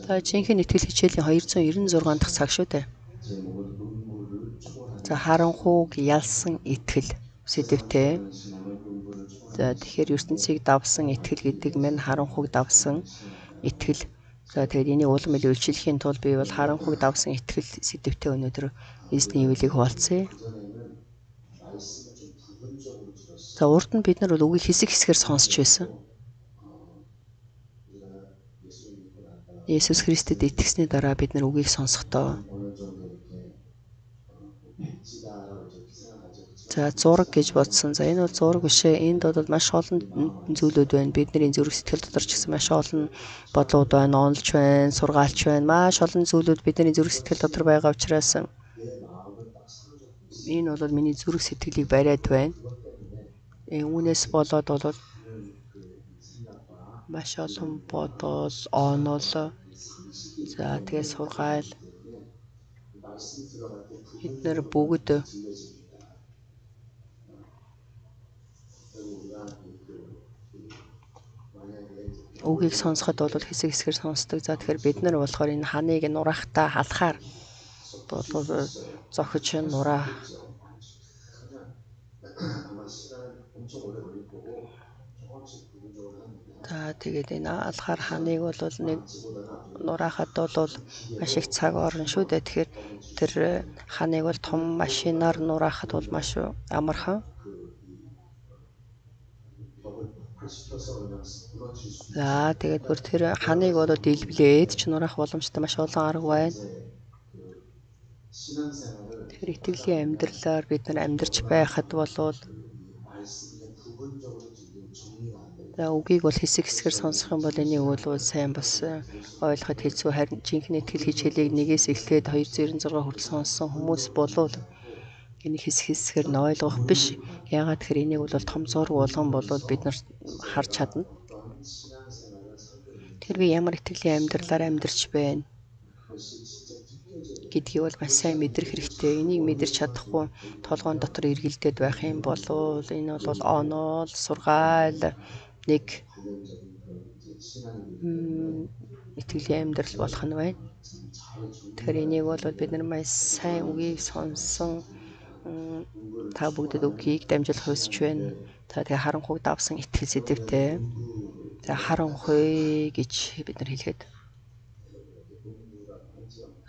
За жинхэнэ итгэл хичээлийн 296 дахь цаг шүү дээ. За харанхууг ялсан итгэл сэдвтэй. За тэгэхээр ертөнцийг давсан итгэл гэдэг нь харанхууг давсан итгэл. За тэгээд энийг улам илүү илчлэхийн тулд би бол харанхууг давсан итгэл сэдвтэй өнөөдөр эзний ивэлийг хуваалцъя. За урд нь бид нар бол үгийг хэсэг хэсгээр сонсч байсан. Есүс Христэд итгэсний дараа бид нар үгийг сонсохдоо за зураг гэж бодсон. За энэ бол зураг биш ээ. Энд бол маш олон зүйлүүд байна. Бидний зүрх сэтгэл дотор ч гэсэн маш олон бодлууд байна, онолч байна, сургаалч байна. Маш олон зүйлүүд бидний зүрх сэтгэл дотор байгаа учраас энэ бол миний зүрх сэтгэлийг бариад байна. Үүнээс болоод бол маш олон бодол, онол, за тэгээ сургаал эдгээр бүгд үгийг сонсоход бол хэсэг хэсгээр сонсдог. За тэгэхээр бид нар болохоор энэ ханыг нураахтаа халахаар бол зохиж нураа. За тэгээд энэ алхаар ханыг бол нэг нураахад бол маш их цаг орно шүү дээ. Тэгэхээр тэр ханыг бол том машинаар нураахад бол маш амархан. За тэгээд бүр тэр ханыг бол дэлбэлээд ч нураах боломжтой маш олон арга байна. Тэгэхээр итгэлийн амьдралаар бид нар амьдарч байхад болвол за үгийг бол хэсэг хэсгээр сонсох юм бол энийг бол сайн бас ойлгоход хэцүү. Харин жинхэнэ итгэл хичээлийг нэгээс эхлээд 296 хүртэл сонссон хүмүүс болвол энийг хэсэг хэсгээр нь ойлгох биш. Яагаад тэгэхээр энийг бол том зураг болгон болоод бид нар харж чадна. Тэр би ямар итгэлийн амьдралаар амьдарч байна гэдгийг бол маш сайн мэдрэх хэрэгтэй. Энийг мэдэрч чадахгүй толгойн дотор эргэлдээд байх юм бол энэ бол онол, сургаал, нэг итгэлийн амьдрал болох нь байна. Тэгэхээр энийг бол бид нар маш сайн үгийг сонсон та бүгдэд үгийг дамжуулах хүсэж байна. За тэгээ харанхуйг давсан итгэл сэдвтэй. За харанхуй гэж бид нар хэлэхэд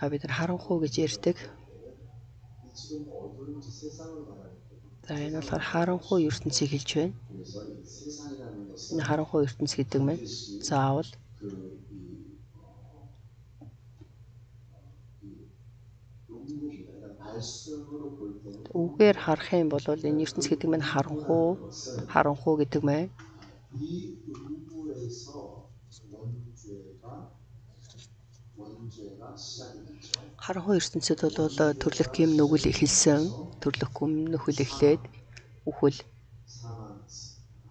бид нар харанхуй гэж ярьдаг. За энэ болохоор харанхуй ертөнцийг хэлж байна. Энэ харанхуй ертөнц гэдэг нь заавал үгээр харах юм бол энэ ертөнц гэдэг нь харанхуй гэдэг нь харанхуй ертөнцид бол төрлөх гэм нүгэл эхэлсэн. Төрлөх гэм нүгэл эхлээд үхэл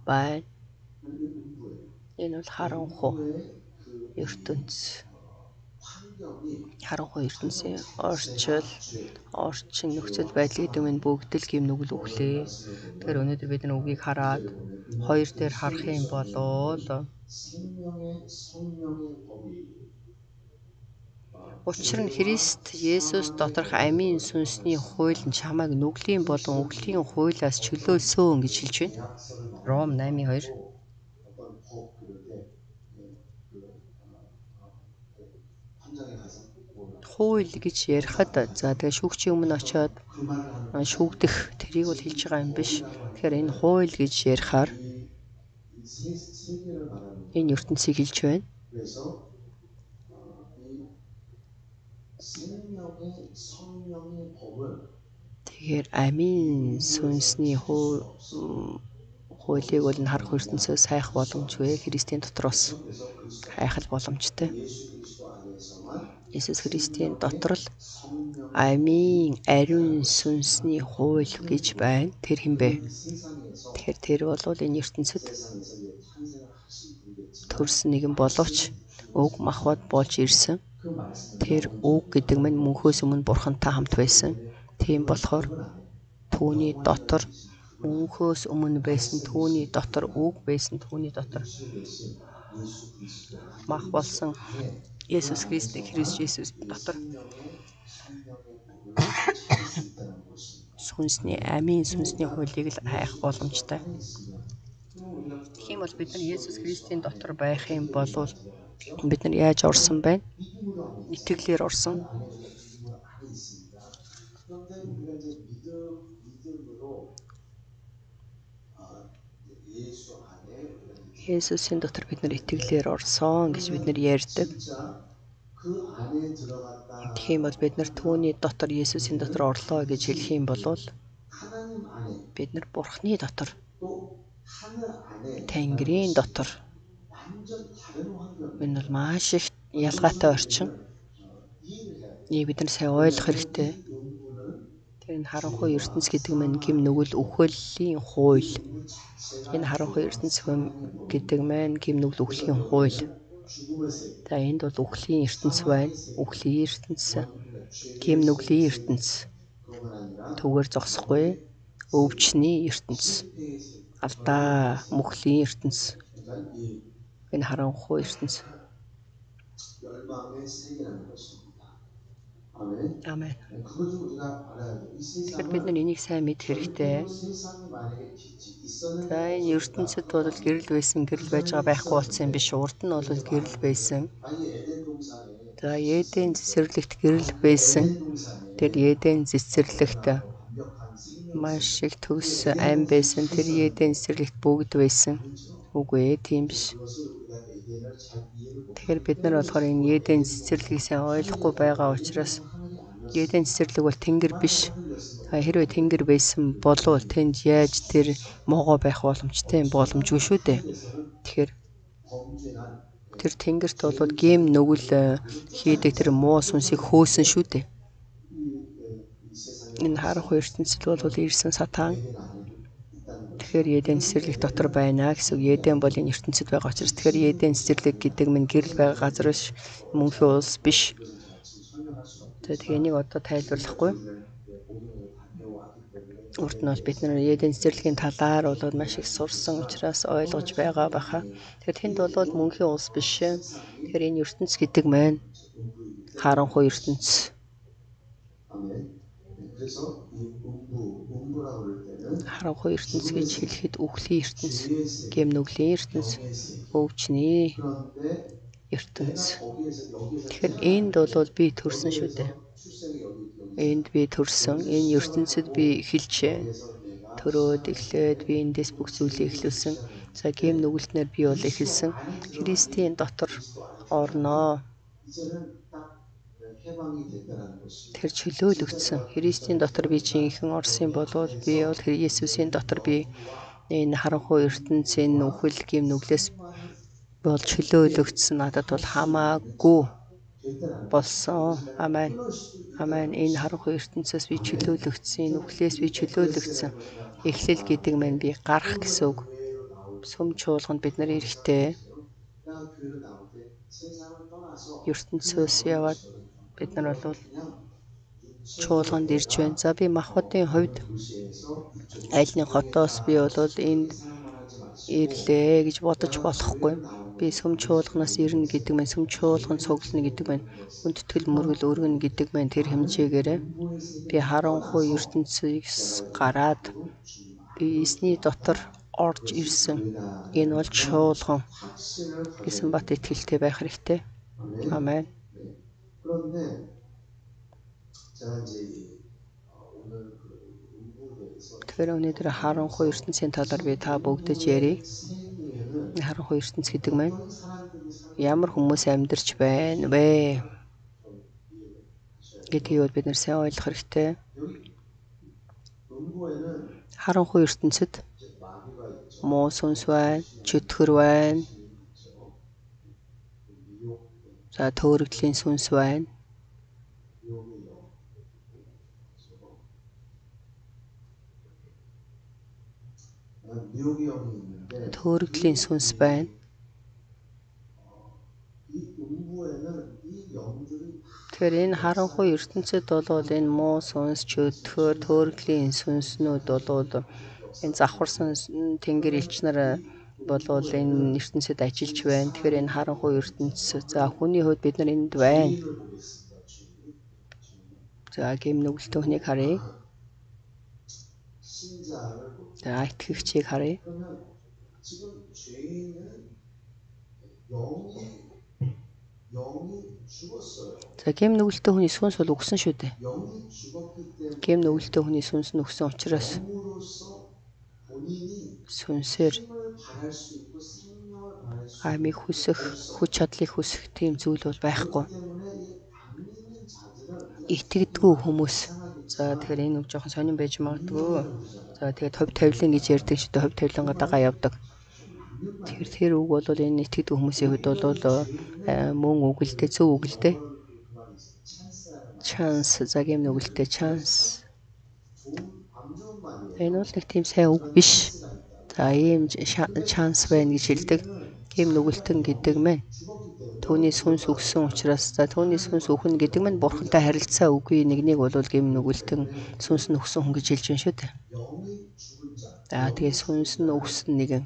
байна. Энэ бол харанхуй ертөнц. Харанхуй ертөнцийн орчин нөхцөл байдал гэдэг нь бүгд л гэм нүгэл үхлээ. Тэгэхээр өнөөдөр бид нар үгийг хараад хоёр дээр харах юм бол учир нь Христ Есүс доторх амийн сүнсний хууль нь чамайг нүглийн болон үхлийн хуулиас чөлөөлсөн гэж хэлж байна. Ром 8:2. Хууль гэж ярихад за тэгээ шүүгчийн өмнө очиод шүүгдэх тэрийг бол хэлж байгаа юм биш. Тэгэхээр энэ хууль гэж ярихаар энэ ертөнцийг хэлж байна. Тэгэхээр амийн сүнсний хуулийг бол энэ харах ертөнцөөс хайх боломжгүй. Христийн дотроос хайх боломжтой. Есүс Христийн дотор л амийн ариун сүнсний хууль гэж байна. Тэр хэм бэ? Тэгэхээр тэр бол энэ ертөнцид төрсөн нэгэн боловч уг махбод болж ирсэн. Тэр үг гэдэг нь мөнхөөс өмнө бурхантай хамт байсан. Тийм болохоор түүний дотор мөнхөөс өмнө байсан түүний дотор үг байсан түүний дотор мах болсон Есүс Христийг Христ Есүс дотор сүнсний амийн сүнсний хуулийг л хайх боломжтой. Тэгэх юм бол бид нар Есүс Христийн дотор байх юм бол бид нар яаж орсон байна? Итгэлээр орсон. Есүсийн дотор бид нар итгэлээр орсон гэж бид нар ярьдаг. Тэгэх юм бол бид нар түүний дотор Есүсийн дотор орлоо гэж хэлэх юм бол бид нар Бурхны дотор Тэнгэрийн дотор энэ бол маш их ялгаатай орчин. Бид нар сайн ойлгох хэрэгтэй. Тэр энэ харанхуй ертөнц гэдэг нь гим нүгэл үхлийн хууль. Энэ харанхуй ертөнц гэдэг маань гим нүгэл үхлийн хууль. За энд бол үхлийн ертөнц байна. Үхлийн ертөнц, гим нүглийн ертөнц. Түгээр зогсохгүй өвчний ертөнц. Алдаа мөхлийн ертөнц. Энэ харанхуй ертөнц. Амен. Тэгэхээр бид нар энийг сайн мэд хэрэгтэй. За энэ ертөнцид бол гэрэл байсан, гэрэл байж байгаа байхгүй болсон юм биш. Урд нь бол гэрэл байсан. За Эден цэцэрлэгт гэрэл байсан. Тэр Эден цэцэрлэгт маш их төгс ам байсан. Тэр Эден цэцэрлэгт бүгд байсан. Үгүй ээ, тийм биш. Тэгэхээр бид нар болохоор энэ Эден цэцэрлэгийг сайн ойлгохгүй байгаа учраас Эден цэцэрлэг бол тэнгэр биш. Хэрвээ тэнгэр байсан болов тэнд яаж тэр могоо байх боломжтой юм? Боломжгүй шүү дээ. Тэгэхээр тэр тэнгэрт бол гим нүгэл хийдэг тэр муу сүнсийг хөөсөн шүү дээ. Энэ харанхуй ертөнцид бол ирсэн сатан. Тэгэхээр Эден цэцэрлэг дотор байна гэсэн үг. Эден бол энэ ертөнцид байгаа учраас тэгэхээр Эден цэцэрлэг гэдэг нь гэрэл байгаа газар биш, мөнхийн улс биш. Тэгээ энийг одоо тайлбарлахгүй. Урд нь бол бид нар Эден цэцэрлэгийн талаар бол маш их сурсан учраас ойлгож байгаа баха. Тэгэхээр тэнд бол мөнхийн улс биш. Тэгэхээр энэ ертөнц гэдэг маань харанхуй ертөнц. Харанхуй ертөнц гэж хэлэхэд үхлийн ертөнц, гим нүглийн ертөнц, өвчний ертөнц. Тэгэхээр энд бол би төрсөн шүү дээ. Энд би төрсөн. Энэ ертөнцид би эхэлжээ. Төрөөд эхлээд би эндээс бүх зүйлийг эхлүүлсэн. За гим нүгэлтнээр би бол эхэлсэн. Христийн дотор орноо. Тэр чөлөөлөгдсөн. Христийн дотор би жинхэнэ орсон бол би бол Есүсийн дотор би энэ харанхуй ертөнцийн үхэл гим нүглээс бол чөлөөлөгдсөн. Надад бол хамаагүй болсон. Амен. Амен. Энэ харанхуй ертөнцөөс би чөлөөлөгдсөн. Энэ үхлээс би чөлөөлөгдсөн. Эхлэл гэдэг маань би гарах гэсэн үг. Сүм чуулганд бид нар эрэхтэй. ертөнцөөс яваад бид нар бол чуулганд ирж байна. За би Махбодын хувьд аль нэг хотоос би бол энд ирлээ гэж бодож болохгүй. Би сүм чуулганаас ирнэ гэдэг маань сүм чуулган цуглана гэдэг маань хүндэтгэл мөргөл өргөнө гэдэг маань тэр хэмжээгээрээ би харанхуй ертөнцөөс гараад би эсний дотор орж ирсэн. Энэ бол чуулган гэсэн бат итгэлтэй байх хэрэгтэй. Амен. Тэгэхээр өнөөдөр харанхуй ертөнцийн талаар би та бүгдэж ярив. Харанхуй ертөнц гэдэг маань ямар хүмүүс амьдарч байна вэ гэдгийг бид нар сайн ойлгох хэрэгтэй. Харанхуй ертөнцид муу сүнс байна, чөтгөр байна. За төөрөгдлийн сүнс байна. Төөрөгдлийн сүнс байна. Тэгэхээр энэ харанхуй ертөнцид бол энэ муу сүнс, чөтгөр, төөрөгдлийн сүнснүүд бол Энэ завхарсан тэнгэр элч нар болвол энэ ертөнцид ажиллаж байна. Тэгэхээр энэ харанхуй ертөнцийн за хүний хувьд бид нар энд байна. За гэм нүгэлтэн хүнийг харъя. За итгэгчийг харъя. За гэм нүгэлтэн хүний сүнс бол өгсөн шүү дээ. Гэм нүгэлтэн хүний сүнс нь өгсөн учраас сүнсээр амийг хүсэх, хүч чадлыг хүсэх тийм зүйл бол байхгүй. Итгэдэггүй хүмүүс. За тэгэхээр энэ үг жоохон сонирн байж магадгүй. За тэгээд хувь тавилан гэж ярьдаг шүү дээ. Хувь тавилангаа дагаа явдаг. Тэгэхээр тэр үг бол энэ итгэдэггүй хүмүүсийн хувьд бол мөн үг л дээ, зөв үг л дээ. Chance за гэм нүгэлтэй chance. Энэ бол нэг тийм сайн үг биш. За ийм chance байна гэж хэлдэг. Гэм нүгэлтэн гэдэг мэн. Түүний сүнс өгсөн учраас за түүний сүнс өгнө гэдэг нь бурхантай харилцаа үгүй нэгнийг бол гэм нүгэлтэн сүнс нь өгсөн хүн гэж хэлж байна шүү дээ. За тэгээ сүнс нь өгсөн нэгэн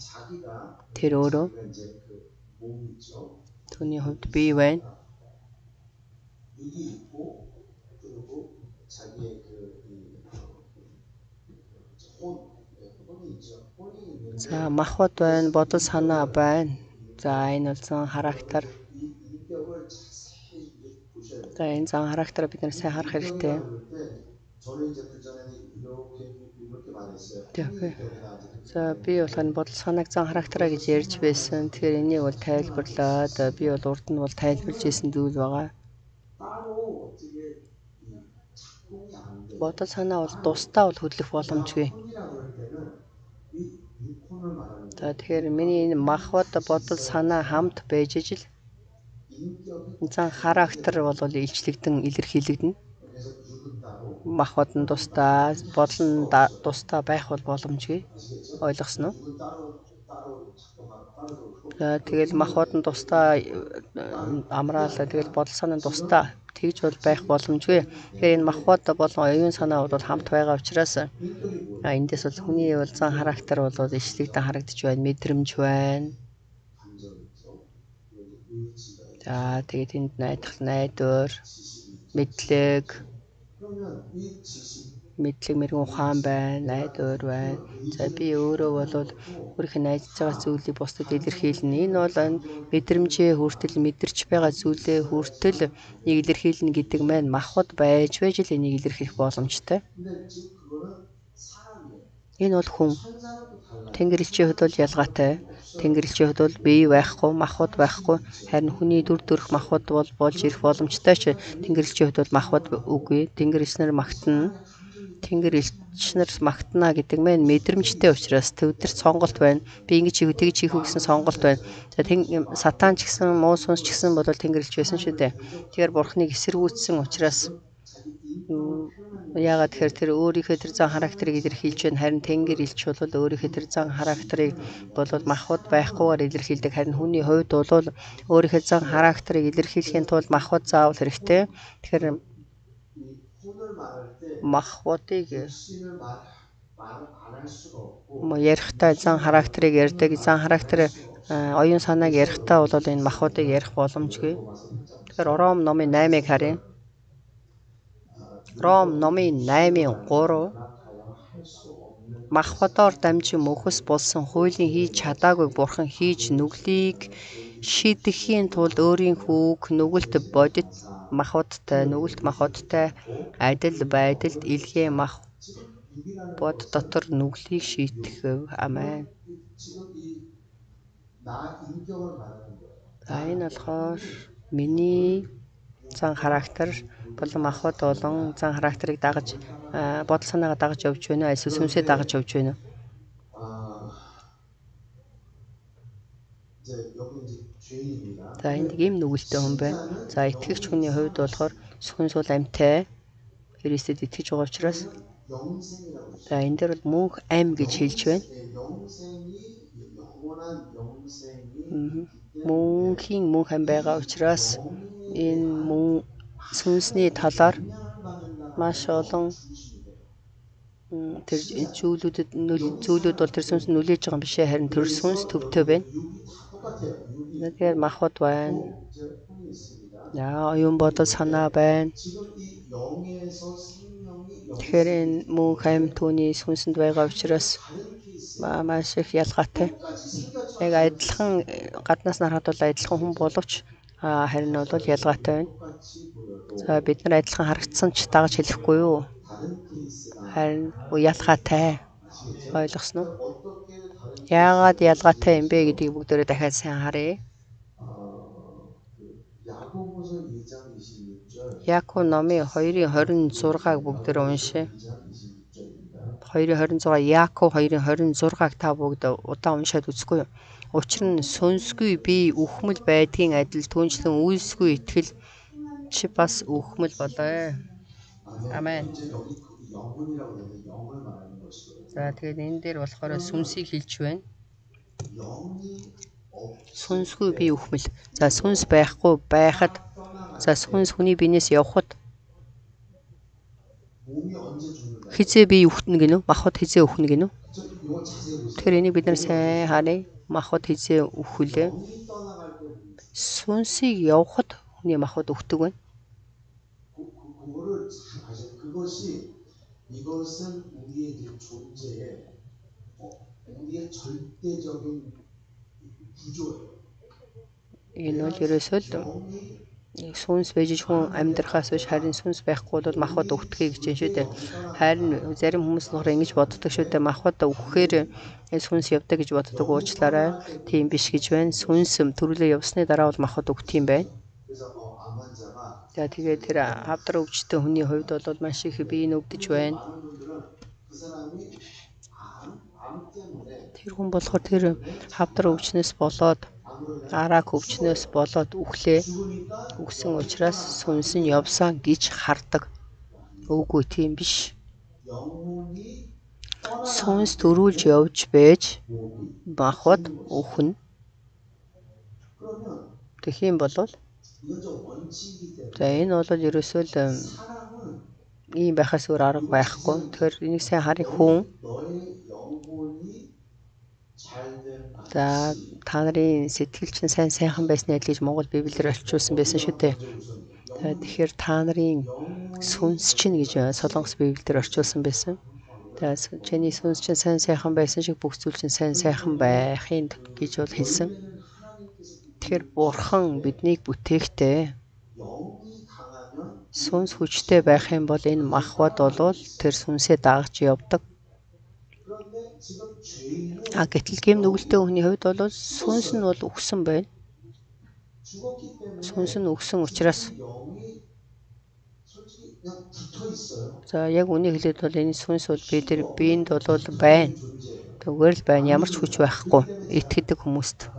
тэр өөрөө түүний хувьд бий байна. За махбод байна, бодол санаа байна. За энэ бол зан характер. За энэ зан характерыг бид нар сайн харах хэрэгтэй. За би болохоор бодол санааг зан характераа гэж ярьж байсан. Тэгэхээр энийг бол тайлбарлаад би бол урд нь бол тайлбарлаж ирсэн зүйл байгаа. Бодол санаа бол тусдаа бол хөдлөх боломжгүй. За тэгэхээр миний энэ махбод бодол санаа хамт байж ижил зан характер бол илчлэгдэн илэрхийлэгдэнэ. Махбод нь тусдаа, бодол нь тусдаа байх бол боломжгүй. Ойлгосноо? За тэгэл махбод нь тусдаа амраалаа тэгэл бодол санаа нь тусдаа тэгж бол байх боломжгүй. Тэгэхээр энэ махбод болон оюун санаа бол хамт байгаа учраас эндээс бол хүний бол зан характер бол илчлэгдэн харагдаж байна, мэдрэмж байна. За тэгээд энд найдвар, мэдлэг мэрэгэн ухаан байна, найдвар байна. За би өөрөө бол өөрийнхөө найдаж байгаа зүйлийг бусдад илэрхийлнэ. Энэ бол мэдрэмжээ хүртэл мэдэрч байгаа зүйлээ хүртэл нэг илэрхийлнэ гэдэг маань махбод байж л энийг илэрхийлэх боломжтой. Энэ бол хүн. Тэнгэрлэгчийн хувьд бол ялгаатай. Тэнгэрлэгчийн хувьд бол бие байхгүй, махбод байхгүй. Харин хүний дүр төрх махбод бол болж ирэх боломжтой ч тэнгэрлэгчийн хувьд бол махбод үгүй. Тэнгэрлэгч нар магтана. Тэнгэрлэгч нар магтана гэдэг маань мэдрэмжтэй учраас төвдөрт сонголт байна. Би ингэж хийх, тэгж хийх гэсэн сонголт байна. За сатан ч гэсэн муу сүнс ч гэсэн бол тэнгэрлэгч байсан шүү дээ. Тэгэхээр бурхныг эсэргүүцсэн учраас яагаад тэгэхээр тэр өөрийнхөө тэр зан характерыг илэрхийлж байна. Харин тэнгэр элч бол өөрийнхөө тэр зан характерыг бол махбод байхгүйгээр илэрхийлдэг. Харин хүний хувьд бол өөрийнхөө зан характерыг илэрхийлэхийн тулд махбод заавал хэрэгтэй. Тэгэхээр махбодыг ярихдаа зан характерыг ярьдаг. Зан характер оюун санааг ярихдаа бол энэ махбодыг ярих боломжгүй. Тэгэхээр Ром номын 8-ыг харъя. Ром номын 8:3 махбодоор дамжин мөхөс болсон хуулийн хийж чадаагүй бурхан хийж нүглийг шийдэхийн тулд өөрийн хүүг нүгэлт бодит махбодтай, нүгэлт махбодтай адил байдалд илгээ махбод дотор нүглийг шийтгэв. Амен. За энэ болохоор миний зан характер болон махбод болон зан характерыг дагаж бодол санаагаа дагаж явж байна. Эсвэл сүнсээ дагаж явж байна. За энд ийм нүгэлтэй хүн байна. За итгэгч хүний хувьд болохоор сүнс бол амьтай. Христэд итгэж байгаа учраас за энэ дээр бол мөнх ам гэж хэлж байна. Мөнхийн мөнх ам байгаа учраас энэ сүнсний талаар маш олон тэр зүйлүүд бол тэр сүнс нүлээж байгаа юм бишээ, харин тэр сүнс төвтэй байна. Тэгэхээр махбод байна. Оюун бодол санаа байна. Тэгэхээр энэ мөнх амь түүний сүнсэнд байгаа учраас маш их ялгаатай. Яг адилхан гаднаас нарахад бол адилхан хүн боловч харин бол ялгаатай байна. За бид нар адилхан харагдсан ч дагаж хэлэхгүй юу? Харин ялгаатай. Ойлгосноо? Яагаад ялгаатай юм бэ гэдгийг бүгдээрээ дахиад сайн харъя. Яаков номын 2:26-аг бүгдээрээ уншъя. 2:26 Яаков 2:26-аг та бүгд удаан уншаад үзэхгүй юу? Учир нь сүнсгүй бие үхмэл байдгийн адил түнчлэн үйлсгүй итгэл чи бас үхмэл болоо. Амен. За тэгээд энэ дээр болохоор сүнсийг хэлж байна. Сүнсгүй бие үхмэл. За сүнс байхгүй байхад, за сүнс хүний биенээс явхад хизээ бие үхтэнэ гинөө? Махбод хизээ үхнэ гинөө? Тэгэхээр энийг бид нар сайн харъя. Махбод хизээ үхвүлээ? Сүнсийг явхад хүний махбод үхдэг байна. Энэ бол ерөөсөө л сүнс байж хүн амьдрахаас биш, харин сүнс байхгүй бол махбод үхдгийг гэж юм шүү дээ. Харин зарим хүмүүс болохоор ингэж боддог шүү дээ. Махбод үхэхээр сүнс явдаг гэж боддог, уучлаарай. Тийм биш гэж байна. Сүнс төрүүлээ явсны дараа бол махбод үхт юм байна. За тэгээд тэр хавдар өвчтөн хүний хувьд бол маш их бие нүгдэж байна. Тэр хүн болохоор тэр хавдар өвчнөөс болоод арак өвчнөөс болоод үхсэн учраас сүнс нь явсан гэж хардаг. Үгүй тийм биш. Сүнс төрүүлж явж байж махбод үхнэ. Тэгэх юм бол за энэ бол ерөөсөө л ийм байхаас өөр арга байхгүй. Тэгэхээр энийг сайн харъя. Хүн за та нарын сэтгэл чинь сайхан байсны адил гэж Монгол Библиэр орчуулсан байсан шүү дээ. Тэгэхээр та нарын сүнс чинь гэж Солонгос Библиэр орчуулсан байсан. Чиний сүнс чинь сайхан байсан шиг бүх зүйл чинь сайхан байхын гэж бол хэлсэн. Тэгэхээр Бурхан биднийг бүтээхдээ сүнс хүчтэй байх юм бол энэ махбод бол тэр сүнсээ дагаж явдаг. Гэтэл гэм нүгэлтэй хүний хувьд бол сүнс нь бол үхсэн байна. Сүнс нь үхсэн учраас за яг үнийг хэлээд бол энэ сүнс бол биенд бол байна. Зүгээр л байна. Ямар ч хүч байхгүй. Итгэдэг хүмүүст.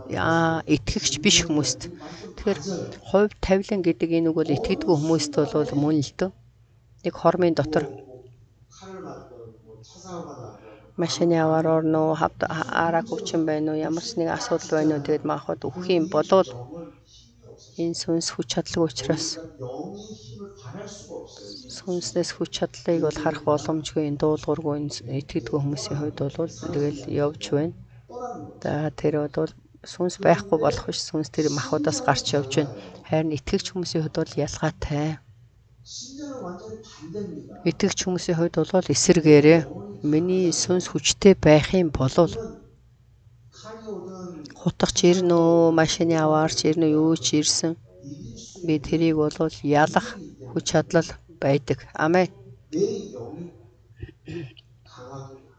Итгэгч биш хүмүүст. Тэгэхээр хувь тавилан гэдэг энэ үг бол итгэдэггүй хүмүүст бол мөн л дөө. Нэг хормын дотор машины аваар орно уу, арак өвчин байна уу, ямар ч нэг асуудал байна уу, тэгээд махбод үхэх юм болвол энэ сүнс хүч чадлагүй учраас сүнснээс хүч чадлыг бол харах боломжгүй. Энэ дуулуургүй итгэдэггүй хүмүүсийн хувьд бол тэгэл явж байна. За тэр бол сүнс байхгүй болох биш, сүнс тэр махбодоос гарч явж байна. Харин итгэгч хүмүүсийн хувьд бол ялгаатай. Итгэгч хүмүүсийн хувьд бол эсэргээрээ миний сүнс хүчтэй байх юм бол хутгач ирнэ үү, машины аваарч ирнэ үү, юу ч ирсэн. Би тэрийг бол ялах хүч чадлал байдаг. Амен.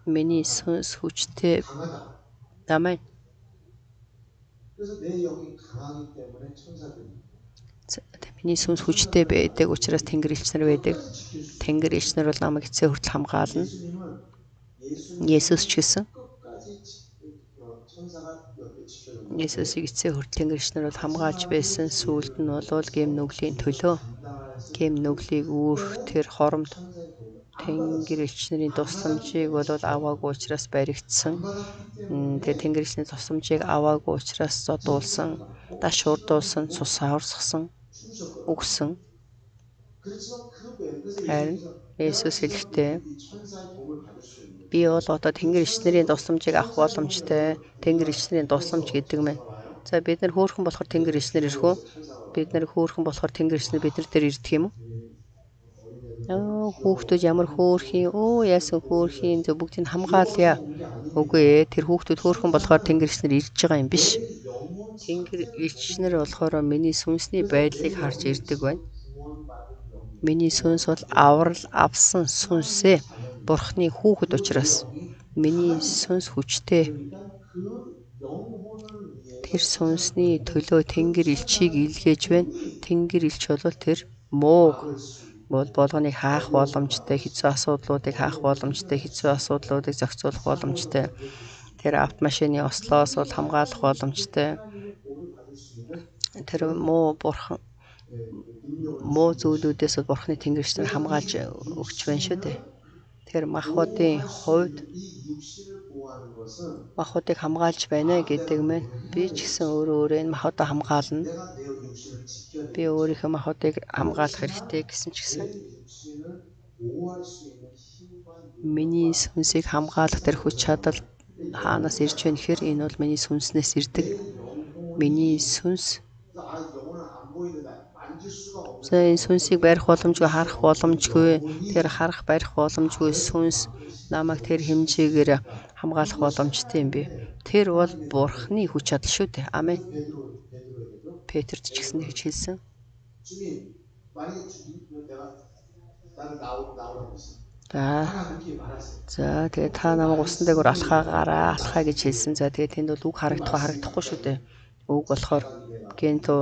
Миний сүнс хүчтэй. Амен. Миний сүнс хүчтэй байдаг учраас Тэнгэр элч нар байдаг. Тэнгэр элч нар бол намайг эцсийн хүртэл хамгаална. Есүс ч гэсэн. Есүсийг эцсийн хүртэл Тэнгэр элч нар бол хамгаалж байсан. Сүүлд нь бол гэм нүглийн төлөө гэм нүглийг үүрх тэр хоромд Тэнгэр элч нарын тусламжийг бол аваагүй учраас баригдсан. Тэгээ Тэнгэр элчний тусламжийг аваагүй учраас зодуулсан, даш урдуулсан, цус аварсгсан, үгсэн. Харин Есүс хэлэхдээ би бол одоо Тэнгэр ичнэрийн тусламжийг авах боломжтой. Тэнгэр ичнэрийн тусламж гэдэг мэн. За бид нар хөөрхөн болохоор Тэнгэр ичнэр ирэх үү? Бид нар хөөрхөн болохоор Тэнгэр ичнэр бид нар дээр ирдэг юм уу? Хүүхдүүд ямар хөөрхийн, яасан хөөрхийн, зөв бүгдийг хамгаалъя. Үгүй ээ, тэр хүүхдүүд хөөрхөн болохоор Тэнгэр ичнэр ирж байгаа юм биш. Тэнгэр ичнэр болохоор миний сүнсний байдлыг харж ирдэг байна. Миний сүнс бол аврал авсан сүнсээ Бурхны хүүхэд учраас миний сүнс хүчтэй. Тэр сүнсний төлөө Тэнгэр элчийг илгээж байна. Тэнгэр элч бол тэр мууг болгоныг хаах боломжтой, хэцүү асуудлуудыг хаах боломжтой, хэцүү асуудлуудыг зохицуулах боломжтой. Тэр автомашины ослоос бол хамгаалах боломжтой. Тэр муу зүйлүүдээс Бурхны Тэнгэрч нар хамгаалж өгч байна шүү дээ. Тэр махбодын хувьд махбодыг хамгаалж байна гэдэг мэн. Би ч гэсэн өөрөө энэ махбодоо хамгаална. Би өөрийнхөө махбодыг хамгаалах хэрэгтэй гэсэн ч гэсэн миний сүнсийг хамгаалах тэр хүч чадал хаанаас ирж байна гэхээр энэ бол миний сүнснээс ирдэг. Миний сүнс энэ сүнсийг барих боломжгүй, харах боломжгүй, тэр харах, барих боломжгүй сүнс намайг тэр хэмжээгээр хамгаалах боломжтой юм бэ. Тэр бол Бурхны хүч чадал шүү дээ. Амен. Петрт ч гэсэн тэгж хэлсэн. За тэгээ та намайг усан дээгүүр алхаа гэж хэлсэн. За тэгээ тэнд бол үг харагдахгүй шүү дээ. Үг болохоор гэнтөө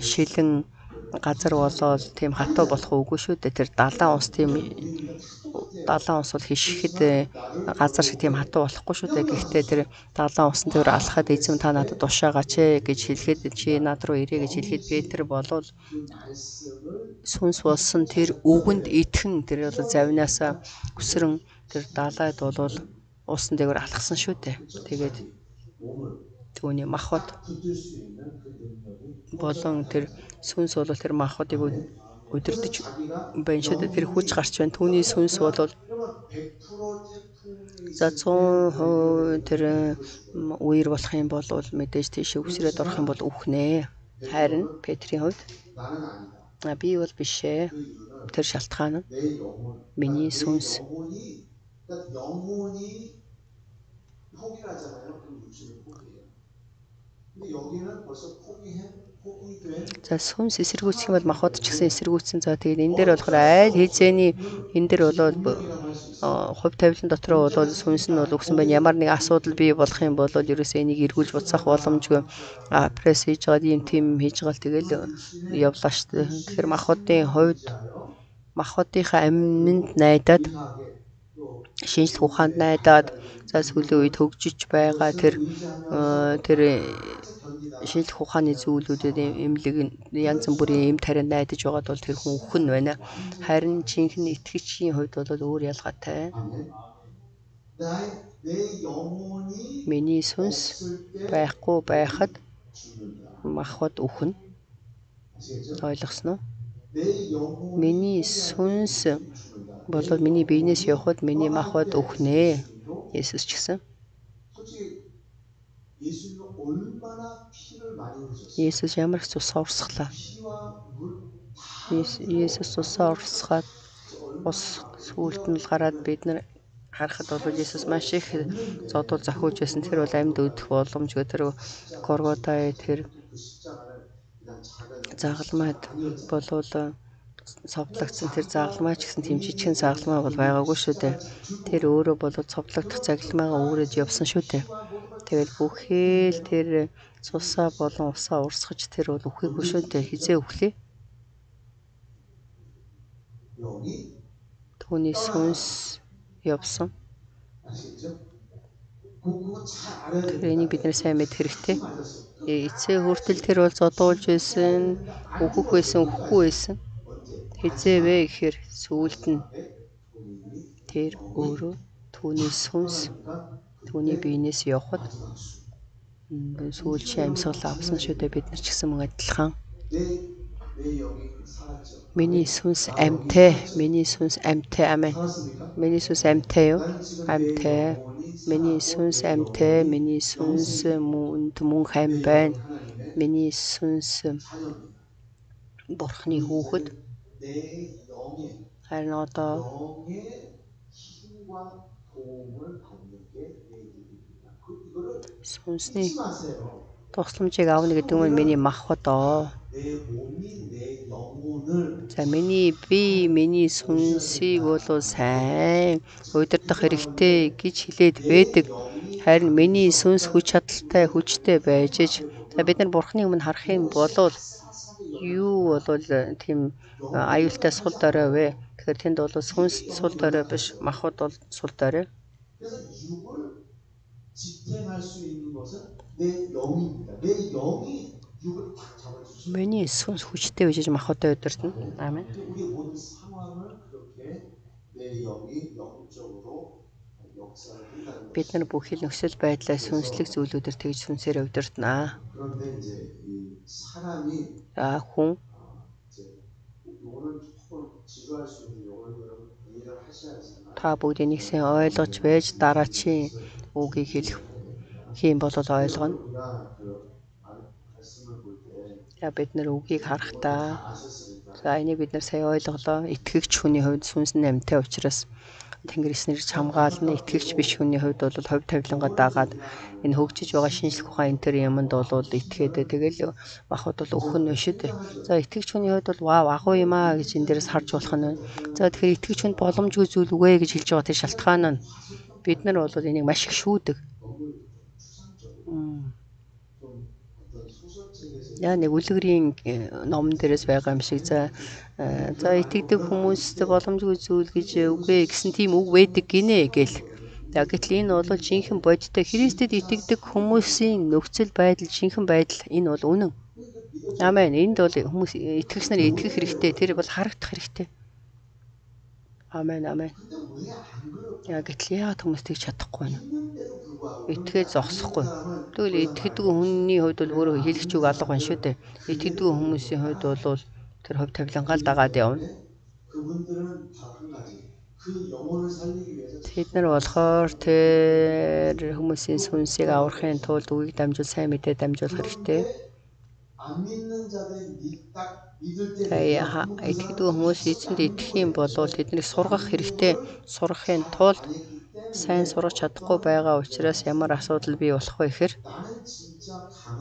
шилэн газар болоод тийм хатуу болох үгүй шүү дээ. Тэр далайн ус бол хишгэхэд газар шиг тийм хатуу болохгүй шүү дээ. Гэхдээ тэр далайн усан дээр алхахад эзэм та надад тушаагач гэж хэлэхэд чи над руу ирээ гэж хэлэхэд Петр болвол сүнс болсон тэр үгэнд итгэн тэр бол завнаасаа өсрөн тэр далайд болвол усан дээр алхсан шүү дээ. Тэгээд түүний махбод болон тэр сүнс бол тэр махбодыг өдөрдөж байна шүү дээ. Тэр хүч гарч байна. Түүний сүнс бол за 100% тэр үер болох юм бол мэдээж тийш үсрээд орох юм бол үхнэ. Харин Петрийн хувьд би бол биш ээ. Тэр шалтгаан нь миний сүнс. За сүнс эсэргүүцэх юм бол махбод ч гэсэн эсэргүүцсэн. За тэгээд энэ дээр болохоор айл хизээний энэ дээр болоод хувь тавилан дотроо болоод сүнс нь бол өгсөн байна. Ямар нэг асуудал бий болох юм бол ерөөсөө энийг эргүүлж буцаах боломжгүй. Пресс хийж байгаа юм тийм хийж байгаа л тэгэл явлаа шүү дээ. Тэгэхээр махбодын хувьд махбодынхаа амьд найдаад шинжлэх ухаанд найдаад за сүүлийн үед хөгжиж байгаа тэр шинжлэх ухааны зүйлүүдэд эмнэлэг янз бүрийн эм тарианд найдаж байгаад бол тэр хүн өхөн байна. Харин жинхэнэ итгэгчийн хувьд бол өөр ялгаатай. Миний сүнс байхгүй байхад махбод өхөн. Ойлгосноо? Миний сүнс болоод миний биенээс явхад миний махбод өхнэ. Есүс ч гэсэн. Есүс ямар их цусаа урсгалаа. Есүс цусаа урсгаад ус сүулт нь гараад бид нар харахад бол Есүс маш их зодол зохиож байсан. Тэр бол амьд өдөх боломжгүй. Тэр Горготай тэр загалмайд болвол цовдлогдсон тэр загалмай ч гэсэн тийм жижигхэн загалмай бол байгаагүй шүү дээ. Тэр өөрөө болоод цовдлогдох загалмайгаа өөрөд явсан шүү дээ. Тэгэл бүхэл тэр цусаа болон усаа урсгаж тэр бол үхээгүй шүү дээ. Хизээ үхлээ? Түүний сүнс явсан. Тэр энийг бид нэр сайн мэд хэрэгтэй. Эцээ хүртэл тэр бол зодуулж байсан, үхэх байсан, үхэхгүй байсан. Хизээ вэ гэхээр сүүлд нь тэр өөрөө түүний сүнс түүний биенээс явхад сүүлчийн амьсгал авсан шүү дээ. Бид нар ч гэсэн мөн адилхан. Миний сүнс амьтай, миний сүнс амьтай, амен. Миний сүнс амьтай юу? Амьтай. Миний сүнс амьтай, миний сүнс мөн хам байна. Миний сүнс Бурхны хүүхэд. Харин одоо сүнсний тусламжийг авна гэдэг нь миний махбод оо. За миний сүнсийг бол сайн удирдах хэрэгтэй гэж хэлээд байдаг. Харин миний сүнс хүч чадалтай, хүчтэй байж ич. За бид нар Бурхны өмнө харах юм бол юу бол тийм аюултай сул дорой вэ? Тэгэхээр тэнд бол сүнс сул дорой биш, махбод бол сул дорой. Миний сүнс хүчтэй байж махбодтой удирдана. Аамен. Бид нар бүх хил нөхцөл байдлаа сүнслэг зүйлүүдээр тэгж сүнсээр удирдана. Хүн та бүгд энийг сайн ойлгож байж дараачийн үгийг хэлэх юм бол ойлгоно. Бид нар үгийг харахтаа за энийг бид нар сайн ойлголоо. Итгэгч хүний хувьд сүнс нь амьтай учраас Тэнгэр эснэрч хамгаална. Итгэгч биш хүний хувьд бол хувь тавилангаа дагаад энэ хөгжиж байгаа шинжлэх ухаан энэ төр юмд бол итгээд тэгэл махбод бол өхөн нь шүү дээ. За итгэгч хүний хувьд бол вау агуу юм аа гэж энэ дээрээс харж болох нь. За тэгэхээр итгэгч хүнд боломжгүй зүйл үгүй гэж хэлж байгаа тэр шалтгаан нь бид нар бол энийг маш их шүүдэг. Яа нэг үлгэрийн номон дээрээс байгаа юм шиг за итгэдэг хүмүүст боломжгүй зүйл гэж үгүй гэсэн тийм үг байдаг гинэ гэл. Гэтэл энэ бол жинхэнэ бодиттой Христэд итгэдэг хүмүүсийн нөхцөл байдал, жинхэнэ байдал энэ бол үнэн. Аамен. Энд бол хүмүүс итгэгч нар итгэх хэрэгтэй. Тэр бол харагдах хэрэгтэй. Аамен, аамен. Гэтэл яагаад хүмүүс тэгж чадахгүй байна? Итгэхэд зогсохгүй. Тэгвэл итгэдэг хүний хувьд бол өөрөө хэлэх үг алга байна шүү дээ. Итгэдэг хүмүүсийн хувьд бол тэр хувь тавилангаа л дагаад явна. Тэд нар болохоор тэр хүмүүсийн сүнсийг аврахын тулд үгийг дамжуул сайн мэдээ дамжуулах хэрэгтэй. Итгэдэг хүмүүс эзэнд итгэх юм бол тэднийг сургах хэрэгтэй. Сурахын тулд сайн сурах чадахгүй байгаа учраас ямар асуудал бий болох вэ гэхээр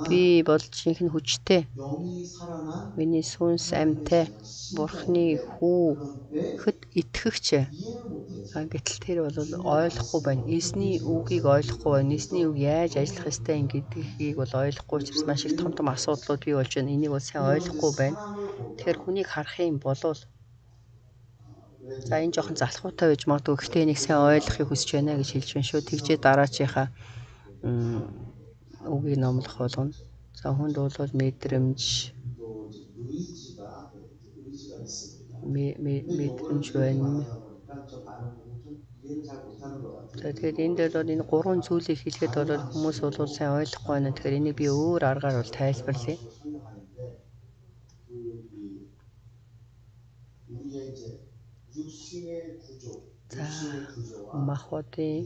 би бол жинхэнэ хүчтэй. Миний сүнс амьтай. Бурхны хүүхэд итгэгч. Гэтэл тэр бол ойлгохгүй байна. Эзний үгийг ойлгохгүй байна. Эзний үг яаж ажиллах ёстой юм гэдгийг бол ойлгохгүй учраас маш их том асуудлууд бий болж байна. Энийг бол сайн ойлгохгүй байна. Тэгэхээр хүнийг харах юм бол за энэ жоохон залхуутай байж магадгүй. Гэхдээ энийг сайн ойлгохыг хүсэж байна гэж хэлж байна шүү. Тэгжээ дараачийнхаа үгийг номлох болгоно. За хүнд бол мэдрэмж байна. Тэгээд энд бол энэ гурван зүйлийг хэлэхэд бол хүмүүс бол сайн ойлгохгүй байна. Тэгэхээр энийг би өөр аргаар бол тайлбарлая. За махбодын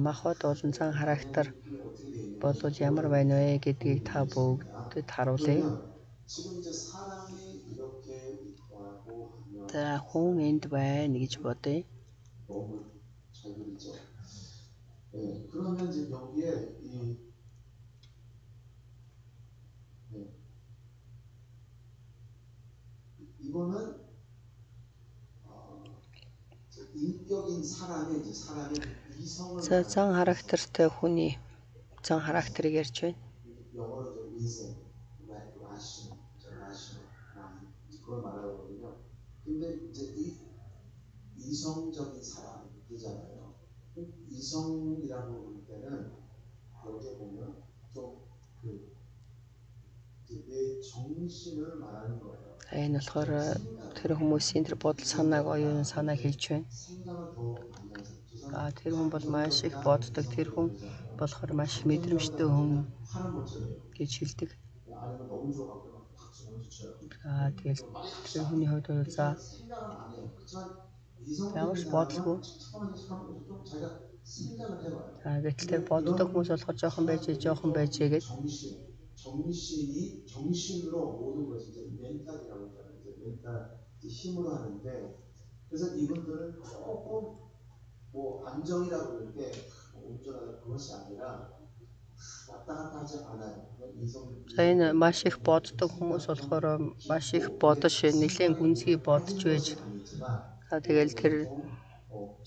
махбод болон зан характер бол ямар байна вэ гэдгийг та бүгдэд харуулъя. За хүн энд байна гэж бодъё. За зан характертай хүний зан характерыг ярьж байна. Энэ болохоор тэр хүмүүсийн тэр бодол санааг оюун санааг хэлж байна. Тэр хүн бол маш их боддог. Тэр хүн болохоор маш мэдрэмжтэй хүн гэж хэлдэг. Тэгэл тэр хүний хувьд бол за ямар ч бодлого. Гэтэл тэр боддог хүмүүс болохоор жоохон байж гэж. 정신으로 모든 것이 이제 멘탈이라고 하잖아요. 이제 멘탈 힘으로 하는데 그래서 이분들은 조금 뭐 안정이라고 이렇게 운전하는 그것이 아니라 왔다 갔다 하지 않아요. За энэ маш их боддог хүмүүс болохоор маш их бодож нэлээд гүнзгий бодож байж. Тэгэл тэр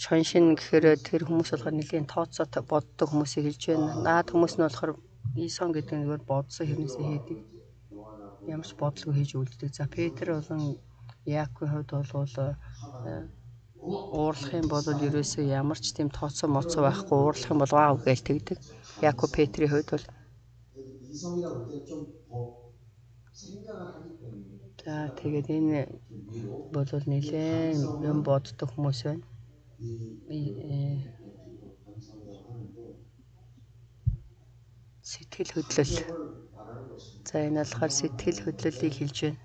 шоншин гэхээр тэр хүмүүс болохоор нэлээд тооцоо боддог хүмүүсийг хэлж байна. Наад хүмүүс нь болохоор Исон гэдэг нь зүгээр бодсон хэрнээсээ хийдэг. Ямар ч бодлого хийж үлддэг. За Петр болон Яаковын хувьд бол уурлах юм бол ерөөсөө ямар ч тийм тооцоо моцоо байхгүй уурлах юм бол вау гэж тэгдэг. Яаков Петрийн хувьд бол за тэгээд энэ бол нэлээд юм боддог хүмүүс байна. Сэтгэл хөдлөл. За энэ болохоор сэтгэл хөдлөлийг хэлж байна.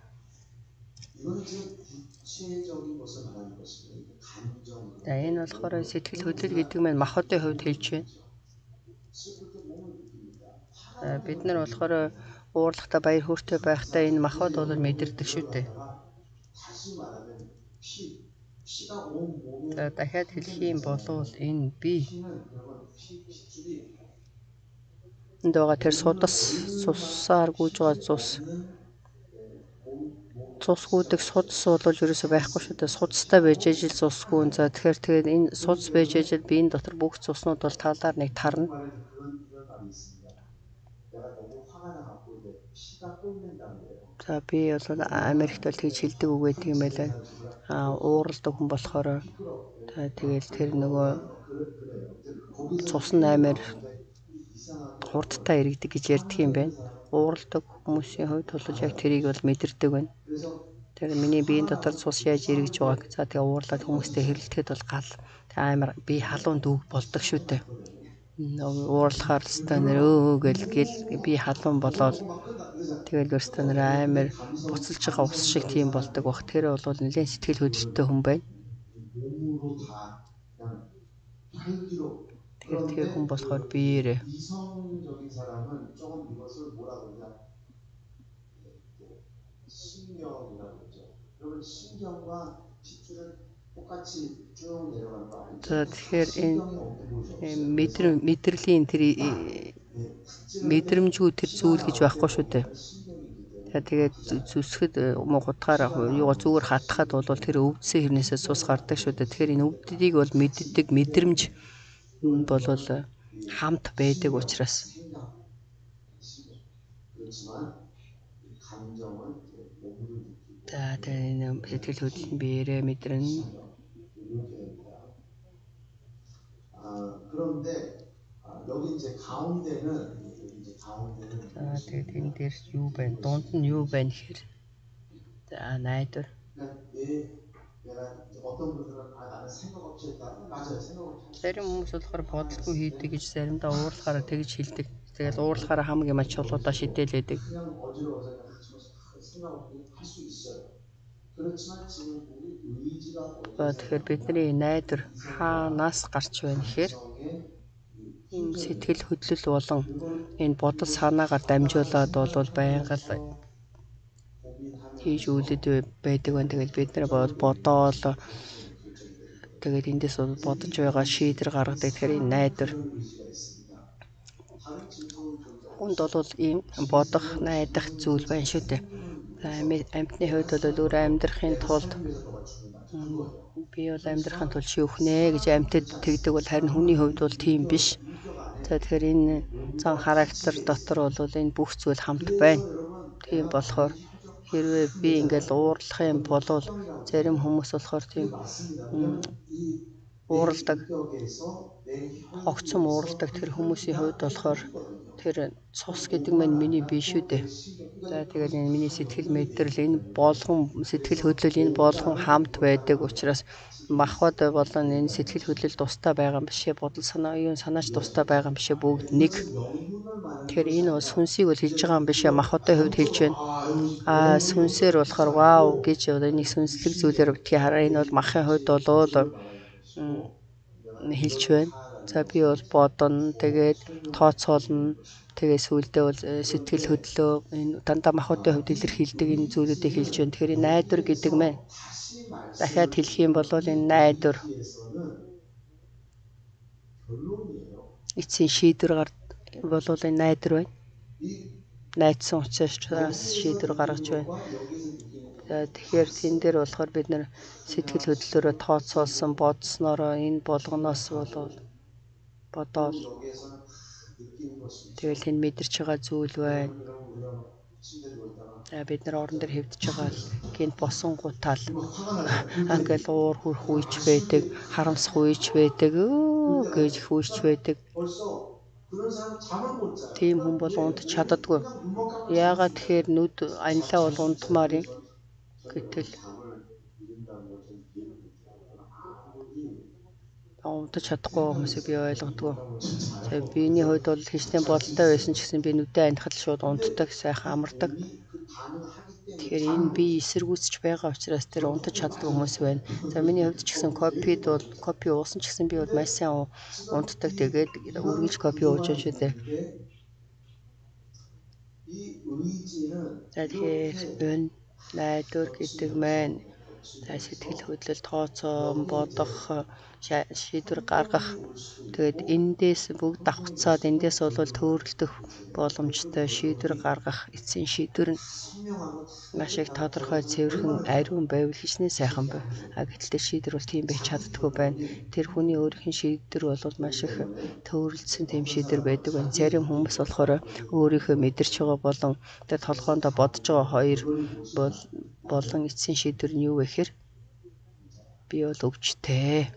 За энэ болохоор сэтгэл хөдлөл гэдэг нь махбодын хувьд хэлж байна. Бид нар болохоор уурлахтаа баяр хөөртэй байхдаа энэ махбод бол мэдэрдэг шүү дээ. За дахиад хэлэх юм бол энэ би энд байгаа тэр цусаар гүйж байгаа цус гүйдэг судас бол ерөөсөй байхгүй шүү дээ. Судастай байж ижил цусгүй. За тэгэхээр энэ судас байж ижил биеийн дотор бүх цуснууд бол талаар нэг тарна. За би бол Америкт бол тэгж хэлдэг үг гэдэг юм байлаа. Ууралдаг хүн болохоор тэгэл тэр нөгөө цус нь амар хурдтай иргэдэг гэж ярьдаг юм байна. Ууралдаг хүмүүсийн хувьд бол яг тэрийг бол мэдэрдэг байна. Тэр миний биеийн дотор цус яаж иргэж байгааг. За тэгээ уурлаад хүмүүстэй хэрэлдэхэд бол гал амар би халуун дүүг болдог шүү дээ. Уурлахаар өстой нэр гэл би халуун болоод тэгэл өстой нэр амар буцалж байгаа ус шиг тийм болдог бах. Тэр бол нэлээд сэтгэл хөдлөлттэй хүн байна. Тэгэхээр хүн болохоор биеэрээ 이성적인 사람은 조금 이것을 뭐라고 그러냐 신경이라고 그러죠. 여러분 신경과 핏줄은 똑같이 쭉 내려가는 거 아니죠? Тэгэхээр энэ мэдрэлийн тэр мэдрэмжгүй тэр зүйл гэж байхгүй шүү дээ. Тэгээд зүсгэд гутгаар зүгээр хатахад бол тэр өвдсөн хэрнээсээ цус гардаг шүү дээ. Тэгэхээр энэ өвддгийг бол мэддэг мэдрэмж бол хамт байдаг учраас. За тэгээд сэтгэл хөдлөл нь биеэрээ мэдэрнэ. Тэгээд энэ дээр юу байна? Дунд нь юу байна гэхээр за найдвар. Зарим хүмүүс болохоор бодлого хийдэг гэж заримдаа уурлахаараа тэгж хэлдэг. Тэгэл уурлахаараа хамаг юм чулуудаа шидэлээдэг. Тэгэхээр бидний найдвар хаанаас гарч байна гэхээр сэтгэл хөдлөл болон энэ бодол санаагаар дамжуулаад бол байнга хийж үлдээд байдаг байна. Тэгээд бид нар бодоол тэгээд эндээс бодож байгаа шийдвэр гаргадаг. Тэгэхээр энэ найдвар хүнд бол ийм бодох, найдах зүйл байна шүү дээ. Амьтны хувьд бол өөр амьдрахын тулд би бол амьдрахын тулд шүүхнэ гэж амьтад тэгдэг бол харин хүний хувьд бол тийм биш. За тэгэхээр энэ зан характер дотор бол энэ бүх зүйл хамт байна. Тийм болохоор хэрвээ би ингээл уурлах юм бол зарим хүмүүс болохоор тийм ууралдаг, хогцом ууралдаг тэр хүмүүсийн хувьд болохоор Тэгэхээр цус гэдэг маань миний бие шүү дээ. За тэгээд энэ миний сэтгэл мэдрэл, энэ болгон сэтгэл хөдлөл, энэ болгон хамт байдаг учраас махбод болон энэ сэтгэл хөдлөл тустай байгаа юм бишээ, бодол санаа, оюун санаач тустай байгаа юм бишээ, бүгд нэг. Тэгэхээр энэ бол сүнсийг бол хэлж байгаа юм бишээ, махбодын хувьд хэлж байна. Сүнсээр болохоор вау гэж энийг сүнслэг зүйлээр битгий хараа. Энэ бол махын хувьд болоод хэлж байна. За би бол бодно, тэгээд тооцоолно, тэгээд сүүлдээ бол сэтгэл хөдлөө энэ дандаа махбодын хувьд илэрхийлдэг энэ зүйлүүдийг хэлж байна. Тэгэхээр энэ найдвар гэдэг маань дахиад хэлэх юм бол энэ найдвар эцсийн шийдвэр бол энэ найдвар байна. Найдсан учраас шийдвэр гаргаж байна. Тэгэхээр тэн дээр болохоор бид нар сэтгэл хөдлөлөөрөө тооцоолсон, бодсноороо энэ болгоноос бодоод тэгэл энэ мэдэрч байгаа зүйл байна. Бид нар орон дээр хэвдэж байгаа гинт босон гутаал ингээл уур хүрх үйч байдаг, харамсах үйч байдаг, гэж хүйч байдаг. Тийм хүн бол унтж чаддаггүй. Яагаад тэгэхээр нүд анилаа бол унтмаар юм. Гэтэл унтж чадахгүй хүмүүсийг би ойлгодгоо. За биений хувьд бол хичнээн бодолтой байсан ч гэсэн би нүдээ анихад шууд унтдаг, сайхан амардаг. Тэгэхээр энэ би эсэргүүцэж байгаа учраас тэр унтж чаддаг хүмүүс байна. За миний хувьд ч гэсэн кофе уусан ч гэсэн би бол маш сайн унтдаг. Тэгээд үргэлж кофе ууж байгаа шүү дээ. За тэгэхээр энэ найдвар гэдэг маань сэтгэл хөдлөл, тооцоон, бодох, шийдвэр гаргах. Тэгээд эндээс бүгд давхцаад эндээс бол төөрөлдөх боломжтой шийдвэр гаргах эцсийн шийдвэр нь маш их тодорхой, цэвэрхэн, ариун байвал хичнээн сайхан байв. Гэтэл тэр шийдвэр бол тийм байж чаддаггүй байна. Тэр хүний өөрийнх нь шийдвэр бол маш их төөрөлдсөн тийм шийдвэр байдаг байна. Зарим хүмүүс болохоор өөрийнхөө мэдэрч байгаа болон тэр толгоондоо бодож байгаа хоёр болон эцсийн шийдвэр нь юу вэ гэхээр би бол өвчтэй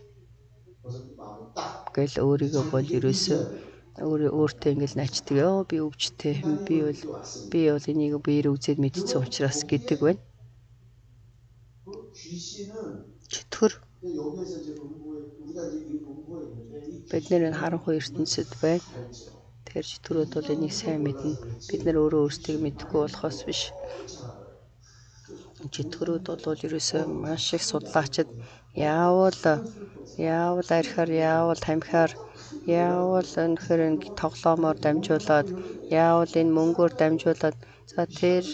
гэл өөрийгөө бол ерөөсөө өөртөө ингээл начдаг. Би өвчтэй. Би бол энийг биеэр үзээд мэдсэн учраас гэдэг байна. Чөтгөр бид нэр харанхуй ертөнцид байна. Тэгэхээр чөтгөрүүд бол энийг сайн мэднэ. Бид нар өөрөө өөрсдийг мэдэхгүй болохоос биш. Чөтгөрүүд бол ерөөсөө маш их судлаачид яавал архиар, яавал тамхиар, яавал өнөхөр тоглоомоор дамжуулаад, яавал энэ мөнгөөр дамжуулаад, за тэр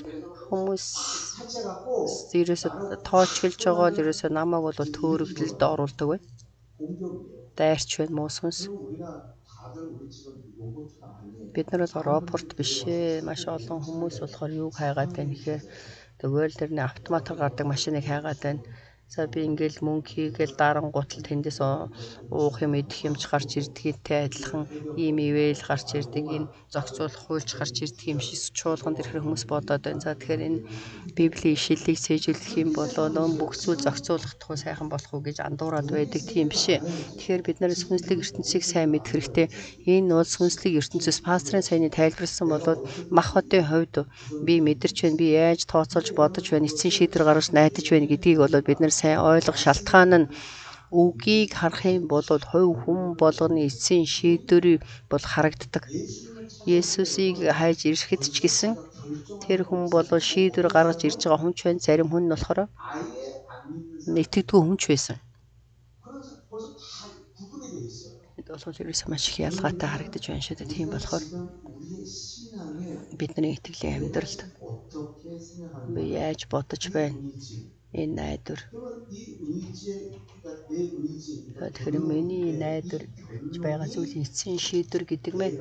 хүмүүс ерөөсөө тоочглж байгаа л ерөөсөө намайг бол төөрөгдөлд оруулдаг байна. Дайрч байна, муу сүнс. Бид нар бол робот биш ээ. Маш олон хүмүүс болохоор юуг хайгаад байна гэхээр тэгвэл тэрний автоматар гардаг машиныг хайгаад байна. За би ингээл мөнгө хийгээл дарангуутал тэндээс уух юм, идэх юмч гарч ирдэгтэй адилхан ийм ивэл гарч ирдэг, энэ зохицуулах хуульч гарч ирдэг юм шиг чуулганд ирэх хүмүүс бодоод байна. За тэгэхээр энэ Библийн ишлэлийг цээжүүлэх юм бол бүх зүйл зохицуулах тухай сайхан болох уу гэж андуураад байдаг тийм биш ээ. Тэгэхээр бид нар сүнслэг ертөнцийг сайн мэдэх хэрэгтэй. Энэ бол сүнслэг ертөнцөөс пастрын саяны тайлбарласан болоод махбодын хувьд би мэдэрч байна, би яаж тооцоолж бодож байна, эцсийн шийдвэр гаргаж найдаж байна гэдгийг бол бид нар сайн ойлгох шалтгаан нь үгийг харах юм бол хувь хүн болгоны эцсийн шийдвэр бол харагддаг. Есүсийг хайж ирэхэд ч гэсэн тэр хүн бол шийдвэр гаргаж ирж байгаа хүн ч байна. Зарим хүн нь болохоор итгэдэггүй хүн ч байсан. Энд бол ерөөсөө маш их ялгаатай харагдаж байна шүү дээ. Тийм болохоор бидний итгэлийн амьдралд би яаж бодож байна? Энэ найдвар. Тэгэхээр миний найдвар байгаа зүйлийн эцсийн шийдвэр гэдэг маань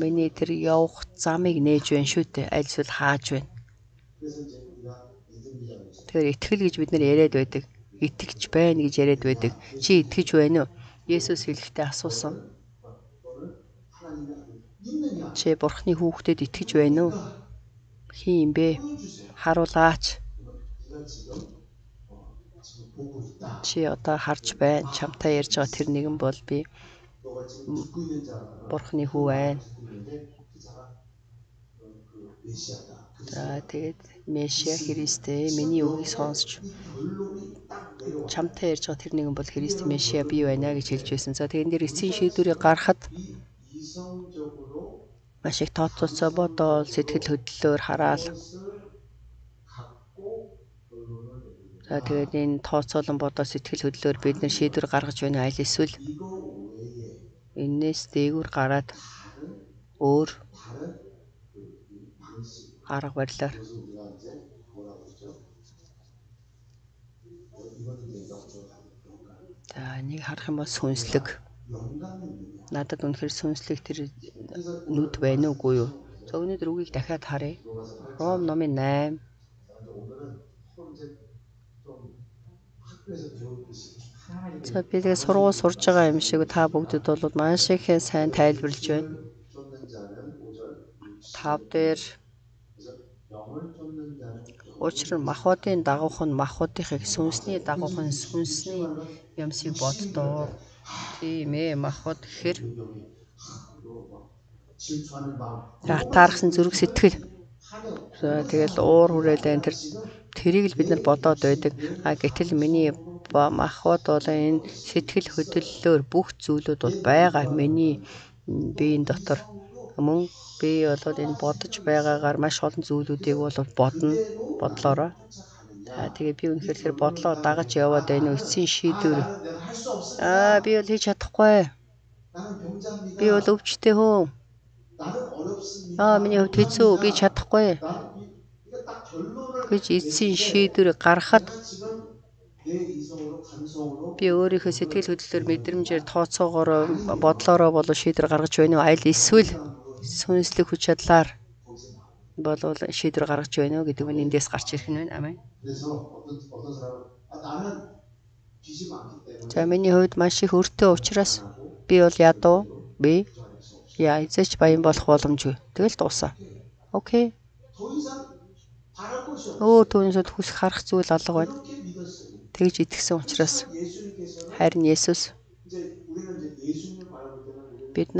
миний тэр явах замыг нээж байна шүү дээ. Аль эсвэл хааж байна. Тэгэхээр итгэл гэж бид нар яриад байдаг. Итгэж байна гэж яриад байдаг. Чи итгэж байна уу? Есүс хэлэхдээ асуусан. Чи Бурхны хүүхдэд итгэж байна уу? Хин юм бэ? Харуулаач. Чи одоо харж байна. Чамтай ярьж байгаа тэр нэгэн бол би. 너가 지금 듣고 있는 자가 Бурхны хүү байна. 듣고 있는데 그 자가 그 메시아다. За тэгээд Месиа Христтэй миний үгийг сонсч 이 결론이 딱 내려와. чамтай ярьж байгаа тэр нэгэн бол Христ Месиа би байна гэж хэлж байсан. За тэгээд энэ эцсийн шийдвэрийг гаргахад 이 이성적으로 маш их тооцоолцоо бодоол сэтгэл хөдлөлөөр хараал. 그것을 갖고 결론을 내립니다. За тэгээд энэ тооцоолон бодоо сэтгэл хөдлөлөөр бид нар шийдвэр гаргаж байна аль эсвэл 이거 외에 энээс дээгүүр гараад 다른 өөр 그 방식 арга барилаар 그것을 우리가 이제 뭐라고 그러죠? 이거는 이제 영감. за нэг харах юм бол сүнслэг. 영감은 뭐냐? Надад үнэхээр сүнслэг тэр 그래서 нүд байна уугүй юу? За өнөөдөр үгийг дахиад харъя. Ром номын 8. 오늘은 서로 이제 좀 학교에서 배우듯이 하나님 За би тэгээ сургууль сурж байгаа юм шиг та бүгдэд бол маш их сайн тайлбарлаж байна. 쫓는 자는 5절 5 дээр 그래서 영을 쫓는 자는 учир нь махбодын дагуух нь махбодынхыг сүнсний дагуух нь сүнсний юмсыг боддоо. Тийм ээ махбод гэхээр 질투하는 마음 таарсан зүрх сэтгэл. За тэгэл уур хүрээлэн тэрийг л бид нар бодоод байдаг. А гэтэл миний махбод бол энэ сэтгэл хөдлөлөөр бүх зүйлүүд бол байгаа. Миний биеийн дотор мөн би бол энэ бодож байгаагаар маш олон зүйлүүдийг бол бодно. Бодлоороо. Тэгээ би үнэхээр тэр бодлоо дагаж яваад байна уу эцсийн шийдвэр. Би бол хийж чадахгүй. Би бол өвчтэй хүн. Миний хувьд хэцүү. Би чадахгүй. Гэж эцсийн шийдвэр гаргахад би өөрийнхөө сэтгэл хөдлөлөөр мэдрэмжээр тооцоогоор бодлоороо болоо шийдвэр гаргаж байна уу? Аль эсвэл сүнслэг хүч чадлаар болоо шийдвэр гаргаж байна уу гэдэг нь эндээс гарч ирэх нь байна. Амен. За миний хувьд маш их өртөө учраас би бол ядуу. Би эзэж баян болох боломжгүй. Тэгэл дуусаа. Окей. Түүнээс хүсэх харах зүйл алга байна. Тэгж итгэсэн учраас харин Есүс бид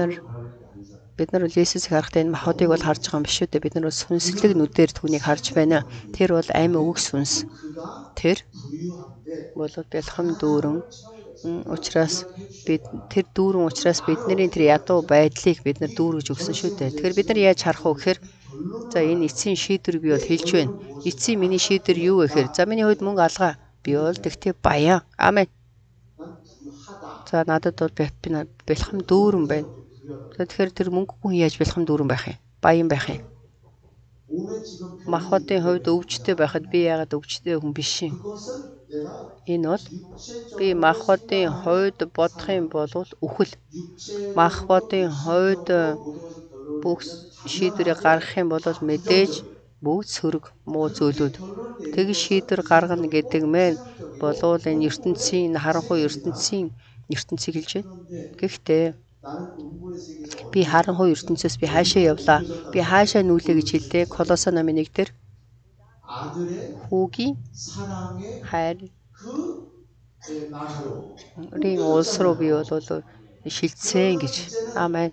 нар бол Есүсийг харахтаа энэ махбодыг бол харж байгаа юм биш үү? Бид нар бол сүнслэг нүдээр түүнийг харж байна. Тэр бол амь үг сүнс. Тэр бол бэлхэм дүүрэн учраас бид тэр дүүрэн учраас бидний тэр ядуу байдлыг бид нар дүүргэж өгсөн шүү дээ. Тэгэхээр бид нар яаж харах вэ гэхээр за энэ эцсийн шийдвэр би бол хэлж байна. Эцсийн миний шийдвэр юу вэ гэхээр за миний хувьд мөнгө алгаа. Би бол тэгтээ баян. Амен. За надад бол бэлхэм дүүрэн байна. Тэгэхээр тэр мөнгө хүн яаж бэлхэм дүүрэн байх юм? Баян байх юм. Махбодын хувьд өвчтэй байхад би яагаад өвчтэй хүн биш юм? Энэ бол би махбодын хувьд бодох юм бол үхэл. Махбодын хувьд бүх шийдвэрийг гаргах юм бол мэдээж бүгд сөрөг муу зүйлүүд. Тэг шийдвэр гаргана гэдэг мэн болвол энэ ертөнцийн харанхуй ертөнцийг хэлж байна. Гэхдээ би харанхуй ертөнцөөс би хаашаа явлаа? Би хаашаа нүүлээ гэж хэлдэг. Колосе номын 1 дээр хүүгийн хайр рийн улс руу би бол шилжсэн гэж. Амен.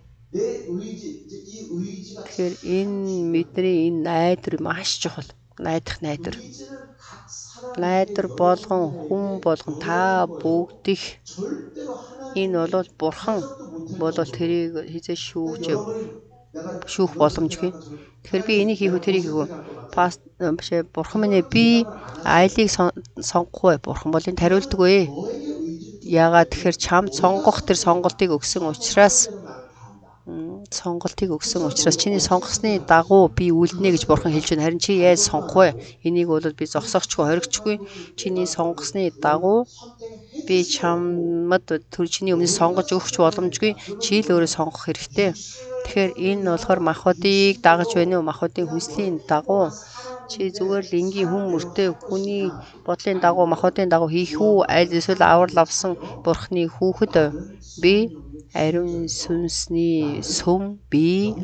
Тэгэхээр энэ бидний энэ найдар маш чухал. Найдах найдар. Найдар болгон хүн болгон та бүгдих энэ бол бурхан бол тэрийг хизээ шүүх боломжгүй. Тэгэхээр би энийг хийх үү тэрийг хийх үү? Бурхан минь би айлыг сонгохгүй. Бурхан бол энэ тариулдаггүй. Яагаад тэгэхээр чамд сонгох тэр сонголтыг өгсөн учраас чиний сонгосны дагуу би үлднэ гэж бурхан хэлж байна. Харин чи яаж сонгох вэ? Энийг бол би зогсоохчгүй, хоригчгүй. Чиний сонгосны дагуу би чамд чиний өмнө сонгож өгч боломжгүй. Чи л өөрөө сонгох хэрэгтэй. Тэгэхээр энэ болохоор махбодыг дагаж байна уу? Махбодын хүслийн дагуу чи зүгээр л энгийн хүн мөртэй хүний бодлын дагуу махбодын дагуу хийх үү? Аль эсвэл аврал авсан бурхны хүүхэд би ариун сүнсний сүм би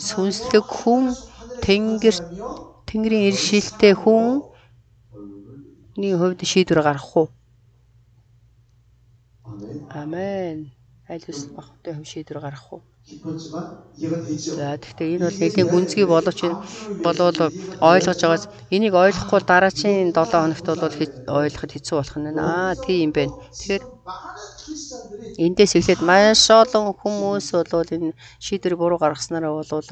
сүнслэг хүн Тэнгэрийн иршилтэй хүний хувьд шийдвэр гаргах уу? Амен. аль ёс махбодын хувь шийдвэр гаргах уу? 깊었지만 이해가 되죠. За гэхдээ энэ бол нэлийн гүнзгий боловч болоод ойлгож байгаас энийг ойлгохгүй дараачийн 7 хоногт бол ойлгоход хэцүү болох нь. Тийм юм байна. Тэгэхээр 많은 크리스찬들이 эндээс эхлээд маш олон хүмүүс бол энэ шийдвэр буруу гаргаснараа бол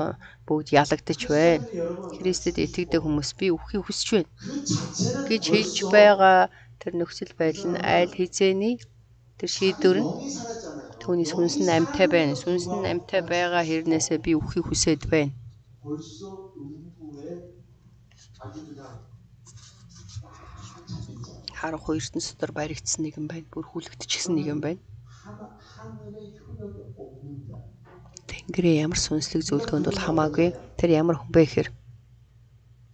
бүгд ялагдаж байна. Христэд итгэдэг хүмүүс би үххийг хүсэж байна 그 자체는 гэж хэлж байгаа тэр нөхцөл байдал нь аль хэзээний тэр шийдвэр нь 영이 살았잖아요. түүний сүнс нь амьтай байна. Сүнс нь амьтай байгаа хэрнээсээ би үххийг хүсээд байна. 벌써 음부에 아주 그냥 잡힌 자. Харанхуй ертөнц дотор баригдсан нэгэн байна. Бүр хүлэгдчихсэн нэгэн байна. 하늘의 효력이 없는 자. Тэнгэрийн ямар сүнслэг зөвлөгөөнд бол хамаагүй. Тэр ямар хүн бэ гэхээр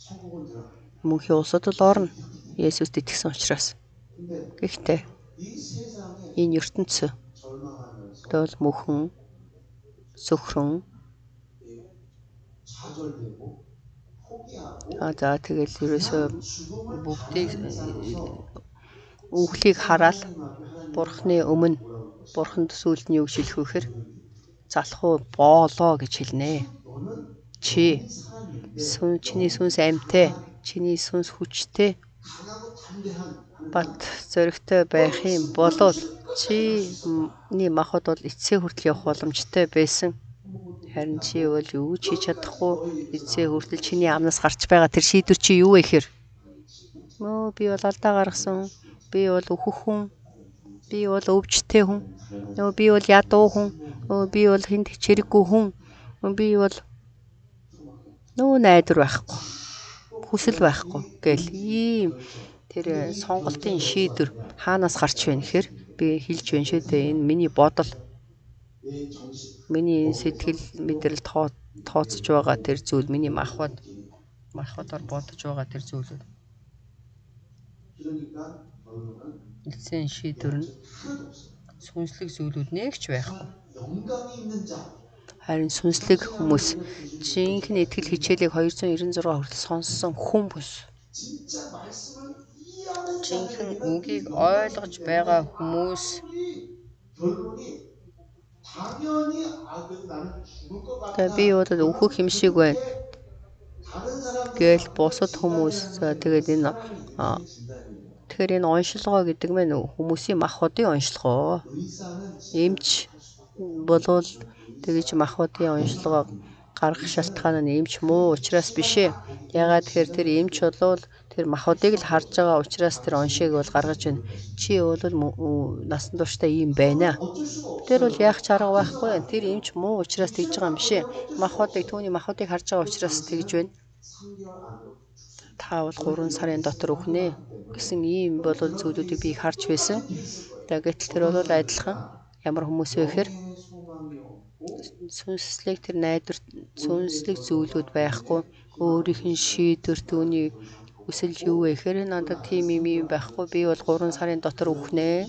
천국은 들어가. мөнхийн улсад л орно. Есүст итгэсэн учраас. 근데 Гэхдээ 이 세상에 энэ ертөнц 절망하면서 бол мөхөн сөхрөн 좌절되고 포기하고 за тэгэл ерөөсөө 죽음을 бүгдийг 바라는 사람에서 үхлийг хараад 하나님 бурхны өмнө бурханд сүлд нь юу гэж хэлэх вэ гэхээр залах уу боолоо гэж хэлнэ. 너는 Чи 사람인데 чиний сүнс амьтай, чиний сүнс хүчтэй, 강하고 담대한 бат зоригтой байх юм бол чиний махбод бол эцсээ хүртэл явах боломжтой байсан. Харин чи бол юу ч хийж чадахгүй. Эцсээ хүртэл чиний амнаас гарч байгаа тэр шийдвэр чи юу вэ гэхээр би бол алдаа гаргасан. Би бол өөхөх хүн. Би бол өвчтэй хүн. Би бол ядуу хүн. Би бол хүнд чирэггүй хүн. Би бол найдвар байхгүй. Хүсэл байхгүй гэл ийм тэр сонголтын шийдвэр хаанаас гарч байна гэхээр би хэлж байна шүү дээ. Энэ миний бодол, 내 정신 миний сэтгэл мэдрэл тооцож байгаа тэр зүйл, миний махбодоор бодож байгаа тэр зүйлүүд. 그러니까 결론은 Эцсийн шийдвэр нь 하나도 없어. сүнслэг зүйлүүд нэгч байхгүй. 영감이 있는 자. Харин сүнслэг хүмүүс жинхэнэ итгэл хичээлийг 296 хүртэл сонссон хүмүүс, 진짜 말씀을 이해하는 жинхэнэ 자들에게는 үгийг ойлгож байгаа хүмүүс 결론이 당연히 나는 죽을 것 같다. би удаад өөхөх юм шиг байна 다른 사람들 гээл бусад хүмүүс тэгээд энэ тэгэхээр энэ оншилгоо гэдэг нь хүмүүсийн махбодын оншилгоо. 의사는 Эмч болвол тэгэж махбодын оншилгоо гаргах шалтгаан нь эмч муу учраас биш ээ. Ягаад тэгэхээр тэр эмч болвол тэр махбодыг л харж байгаа учраас тэр оншийг бол гаргаж байна. Чи бол насан туршдаа ийм байна. Тэр бол яах ч арга байхгүй. Тэр эмч муу учраас тэгж байгаа юм биш ээ. Түүний махбодыг харж байгаа учраас тэгж байна. 3개월 안으로 Та бол 3 сарын дотор үхнэ гэсэн ийм болол зүйлүүдийг би харж байсан. Гэтэл тэр бол адилхан ямар хүмүүс вэ гэхээр 소망이 없고 сүнслэг тэр найдвар сүнслэг зүйлүүд байхгүй. Өөрийнх нь шийдвэр түүний хүсэл юу вэ гэхээр надад тийм юм байхгүй. Би бол 3 сарын дотор үхнэ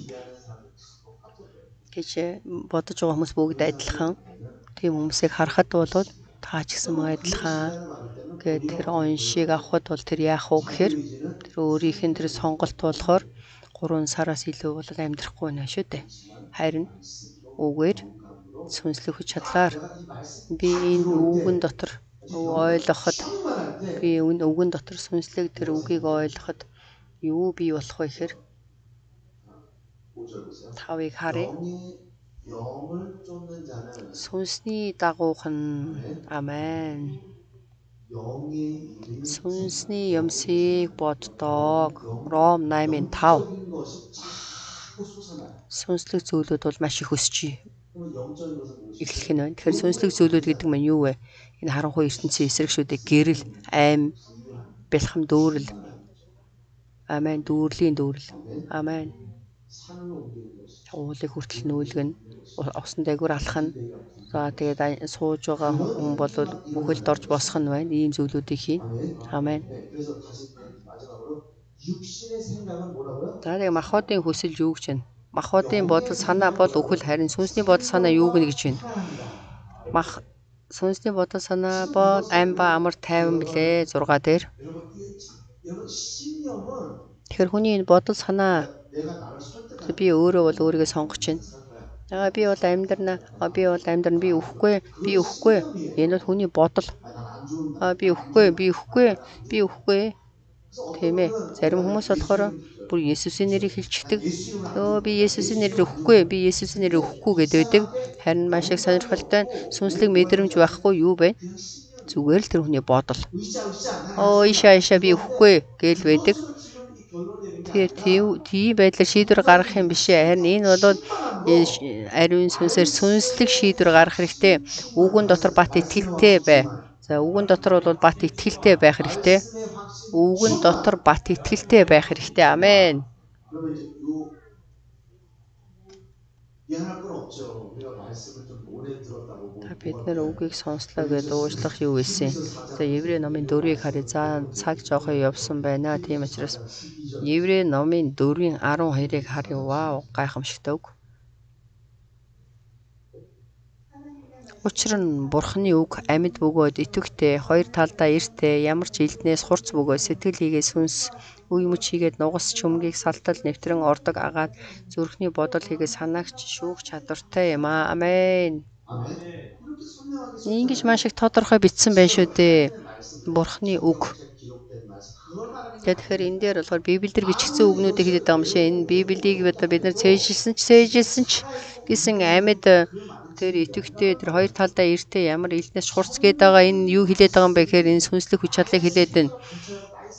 гэж бодож байгаа хүмүүс бүгд адилхан. Тийм хүмүүсийг харахад бол та ч гэсэн адилхан гэдэг тэр оншийг авахд бол тэр яах вэ гэхээр тэр өөрийнх нь тэр сонголт болохоор 3 сараас илүү бол амьдрахгүй нэ шүү дээ. Харин үгээр сүнслэг хүч чадлаар би энэ үгэн дотор ойлгоход би энэ үгэн дотор сүнслэг тэр үгийг ойлгоход юу бий болох вэ гэхээр 5절 보세요. тавыг харъя. 영을 쫓는 자는 Сүнсний дагуухан амен. 영의 일을 Сүнсний юмсыг боддог. Ром 8:5. 영적인 것이 자꾸 솟아나요. Сүнслэг зүйлүүд бол маш их өсөж 그럼 영적인 것은 무엇이? эхлэх нь байна. Тэгэхээр сүнслэг зүйлүүд гэдэг нь юу вэ? Энэ харанхуй ертөнцийн эсрэг шүү дээ. Гэрэл, айм, бэлхэм дүүрэл. Амен. Дүүрлийн дүүрэл. Амен. 산을 옮기는 것이 Уулыг хүртэл нүүлгэн, усан дээгүүр алах нь. За тэгээд сууж байгаа хүн бол бүхэлд орж босох нь байна. Ийм зүйлүүдийг хийн. Амен. 네, 그래서 다시 마지막으로 육신의 생각은 뭐라고요? За тэгээд махбодын хүсэл юу гэж байна? Махбодын бодол санаа бол үхэл, харин сүнсний бодол санаа юу гэнэ гэж байна? Сүнсний бодол санаа бол ам ба амар тайван билээ 6 дээр. 여러분 신념은 Тэгэхээр хүний энэ бодол санаа 내가 나를 설득하는 би өөрөө бол өөрийгөө сонгож байна. Би бол амьдрна. Би бол амьдрна. Би өхгүй. Би өхгүй. Энэ бол хүний бодол. 난 안 좋은 Би өхгүй. Би өхгүй. Би өхгүй. Тийм ээ. Зарим хүмүүс болохоор бүр Есүсийн нэрийг хэлчихдэг. Би Есүсийн нэрээр өхгүй. Би Есүсийн нэрээр өхгүй гэдэг. Харин маш их сонирхолтой сүнслэг мэдрэмж байхгүй юу бэ? Зүгээр л тэр хүний бодол. Ишаа би өхгүй гэл байдаг. Тэгэхээр тийм байдлаар шийдвэр гаргах юм биш ээ. Харин энэ бол ариун сүнсээр сүнслэг шийдвэр гаргах хэрэгтэй. Үгэн дотор бат итгэлтэй бай. За үгэн дотор бол бат итгэлтэй байх хэрэгтэй. Үгэн дотор бат итгэлтэй байх хэрэгтэй. Амен. 그러면 이제 미안할 건 없죠. 우리가 말씀을 좀 오래 들었다고 бид нэр үгийг сонслоо гэдээ уушлах юу вэ? За Еврей номын 4-ийг харъя. За цаг жоохоо явсан байна. Тийм учраас Еврей номын 4-ийн 12-ыг харъя. Вау, гайхамшигтай үг. Учир нь Бурхны үг амьд бөгөөд итгэвтэй, хоёр талдаа эртээ, ямар ч элднээс хурц бөгөөд сэтгэл хийгээ сүнс, үе мөч хийгээд нугас чөмгийг салтал нэвтрэн ордог агаад зүрхний бодол хийгээ санаагч шүүх чадвартай юм аа. Амен. Ингэж маш их тодорхой бичсэн байна шүү дээ. Бурхны үг. Тэгэхээр энэ дээр болохоор Библиэр бичигдсэн үгнүүдийг хэлээд байгаа юм шиг энэ Библийг бид нар цээжилсэн ч гэсэн амьд тэр итгэвтэй тэр хоёр талдаа эртээ ямар элднээс хурц гээд байгаа энэ юу хэлээд байгаа юм бэ гэхээр энэ сүнслэг хүч чадлыг хэлээд байна.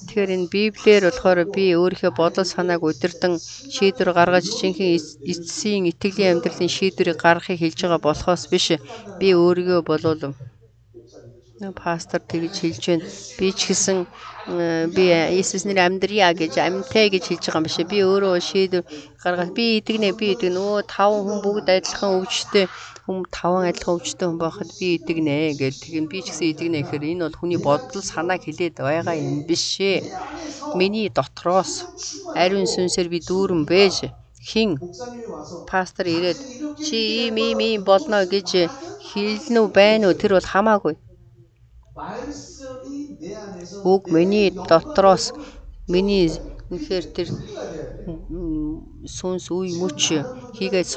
Тэгэхээр энэ Библиэр болохоор би өөрийнхөө бодол санааг удирдан шийдвэр гаргаж жинхэнэ эцсийн итгэлийн амьдралын шийдвэрийг гаргахыг хэлж байгаа болохоос биш. Би өөрийгөө болов пастор тэгж хэлж байна. Би ч гэсэн би Иесус нэр амьдрья гэж амьтай гэж хэлж байгаа юм биш. Би өөрөө шийдвэр гаргаад би итгэнэ. Таван хүн бүгд адилхан өвчтэй таван адилхан өвчтэй хүн байхад би итгэнэ гэж тэгин би ч гэсэн итгэнэ гэхээр энэ бол хүний бодол санааг хэлээд байгаа юм биш ээ. Миний дотроос ариун сүнсээр би дүүрэн бэж хин пастор ирээд чи ийм болно гэж хэлнэ үү байна уу тэр бол хамаагүй. Үг миний дотроос миний үнэхээр тэр сүнс үе мөч хийгээд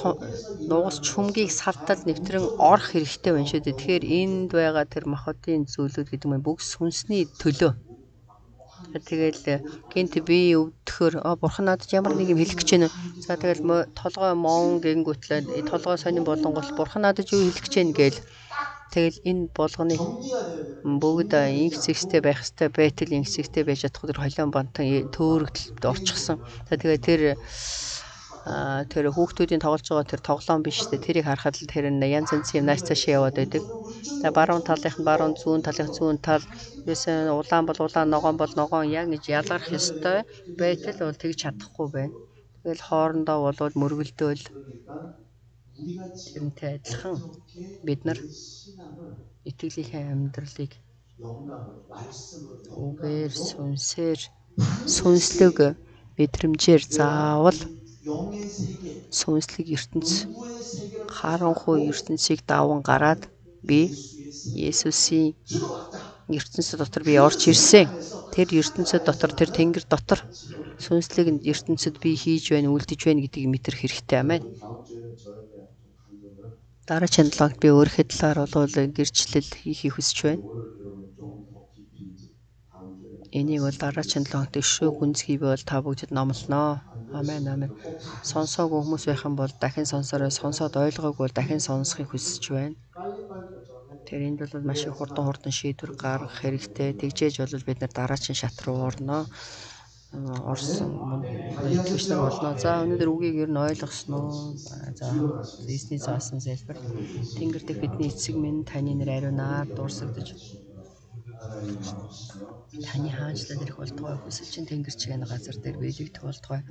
нугас чүмгийг салтал нэвтрэн орох хэрэгтэй байна шүү дээ. Тэгэхээр энд байгаа тэр махбодын зүйлүүд гэдэг нь бүгд сүнсний төлөө. Тэгэл гинт би өвдөхөр бурхан надад ямар нэг юм хэлэх гэж байна. За тэгэл толгой мон гингүүтлээ толгой сонин болонгол бурхан надад юу хэлэх гэж байна гээл. Тэгэл энэ болгоныг бүгд инх зэгстэй байх хэвээр байтал инх зэгстэй байж чадахгүй тэр холион бантан төөрөгдөлд орчихсон. За тэгээ тэр хүүхдүүдийн тоглож байгаа тэр тоглоом биш үү? Тэрийг харахад л тэр янз янзын юм нааш цаашаа яваад байдаг. За баруун талынх нь баруун, зүүн талынх зүүн тал, ерөөсөө улаан бол улаан, ногоон бол ногоон яг гэж ялгарх ёстой байтал бол тэгж чадахгүй байна. Тэгэл хоорондоо болоод мөргөлдөөл тэрнтэй адилхан бид нар итгэлийнхээ амьдралыг үгээр сүнсээр сүнслэг мэдрэмжээр заавал сүнслэг ертөнц харанхуй ертөнцийг даван гараад би Есүсийн ертөнцийн дотор би орж ирсэн. Тэр ертөнцийн дотор тэр тэнгэр дотор сүнслэг ертөнцид би хийж байна, үлдэж байна гэдгийг мэдрэх хэрэгтэй. Амен. Дараагийн талаар би өөрийнхөө талаар бол гэрчлэл хийхийг хүсэж байна. Энийг бол дараагийн талаар дэвшүү гүнзгий бол та бүгдэд номлоноо. Амен амен. Сонсоогүй хүмүүс байх юм бол дахин сонсороо, сонсоод ойлгоогүй бол дахин сонсохыг хүсэж байна. Тэр энд бол маш их хурдан шийдвэр гаргах хэрэгтэй. Тэгжээж бол бид нар дараагийн шат руу орноо. Орсон итгэж нар болно. За өнөөдөр үгийг ер нь ойлгосноо. За эзний заасан залбир. Тэнгэр дэх бидний эцэг минь таны нэр ариунаар дурсагдж таны хаанчлал ирэх болтугай хүсэл чинь тэнгэр чигээр газар дээр биелэгдэх болтугай.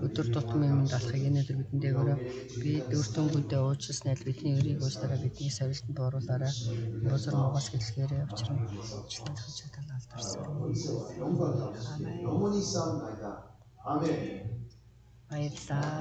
Өдөр тутмын минь алхахыг өнөөдөр бидэндээ өрөө. Бид өртөнгөдөө уучлалсан аль бидний өрийг уучлаарай, бидний савилтанд оруулаарай. Бузар муугаас гэлэхээрээ учран уучлалын хажуудал алдарсан. Амен. Баярлалаа.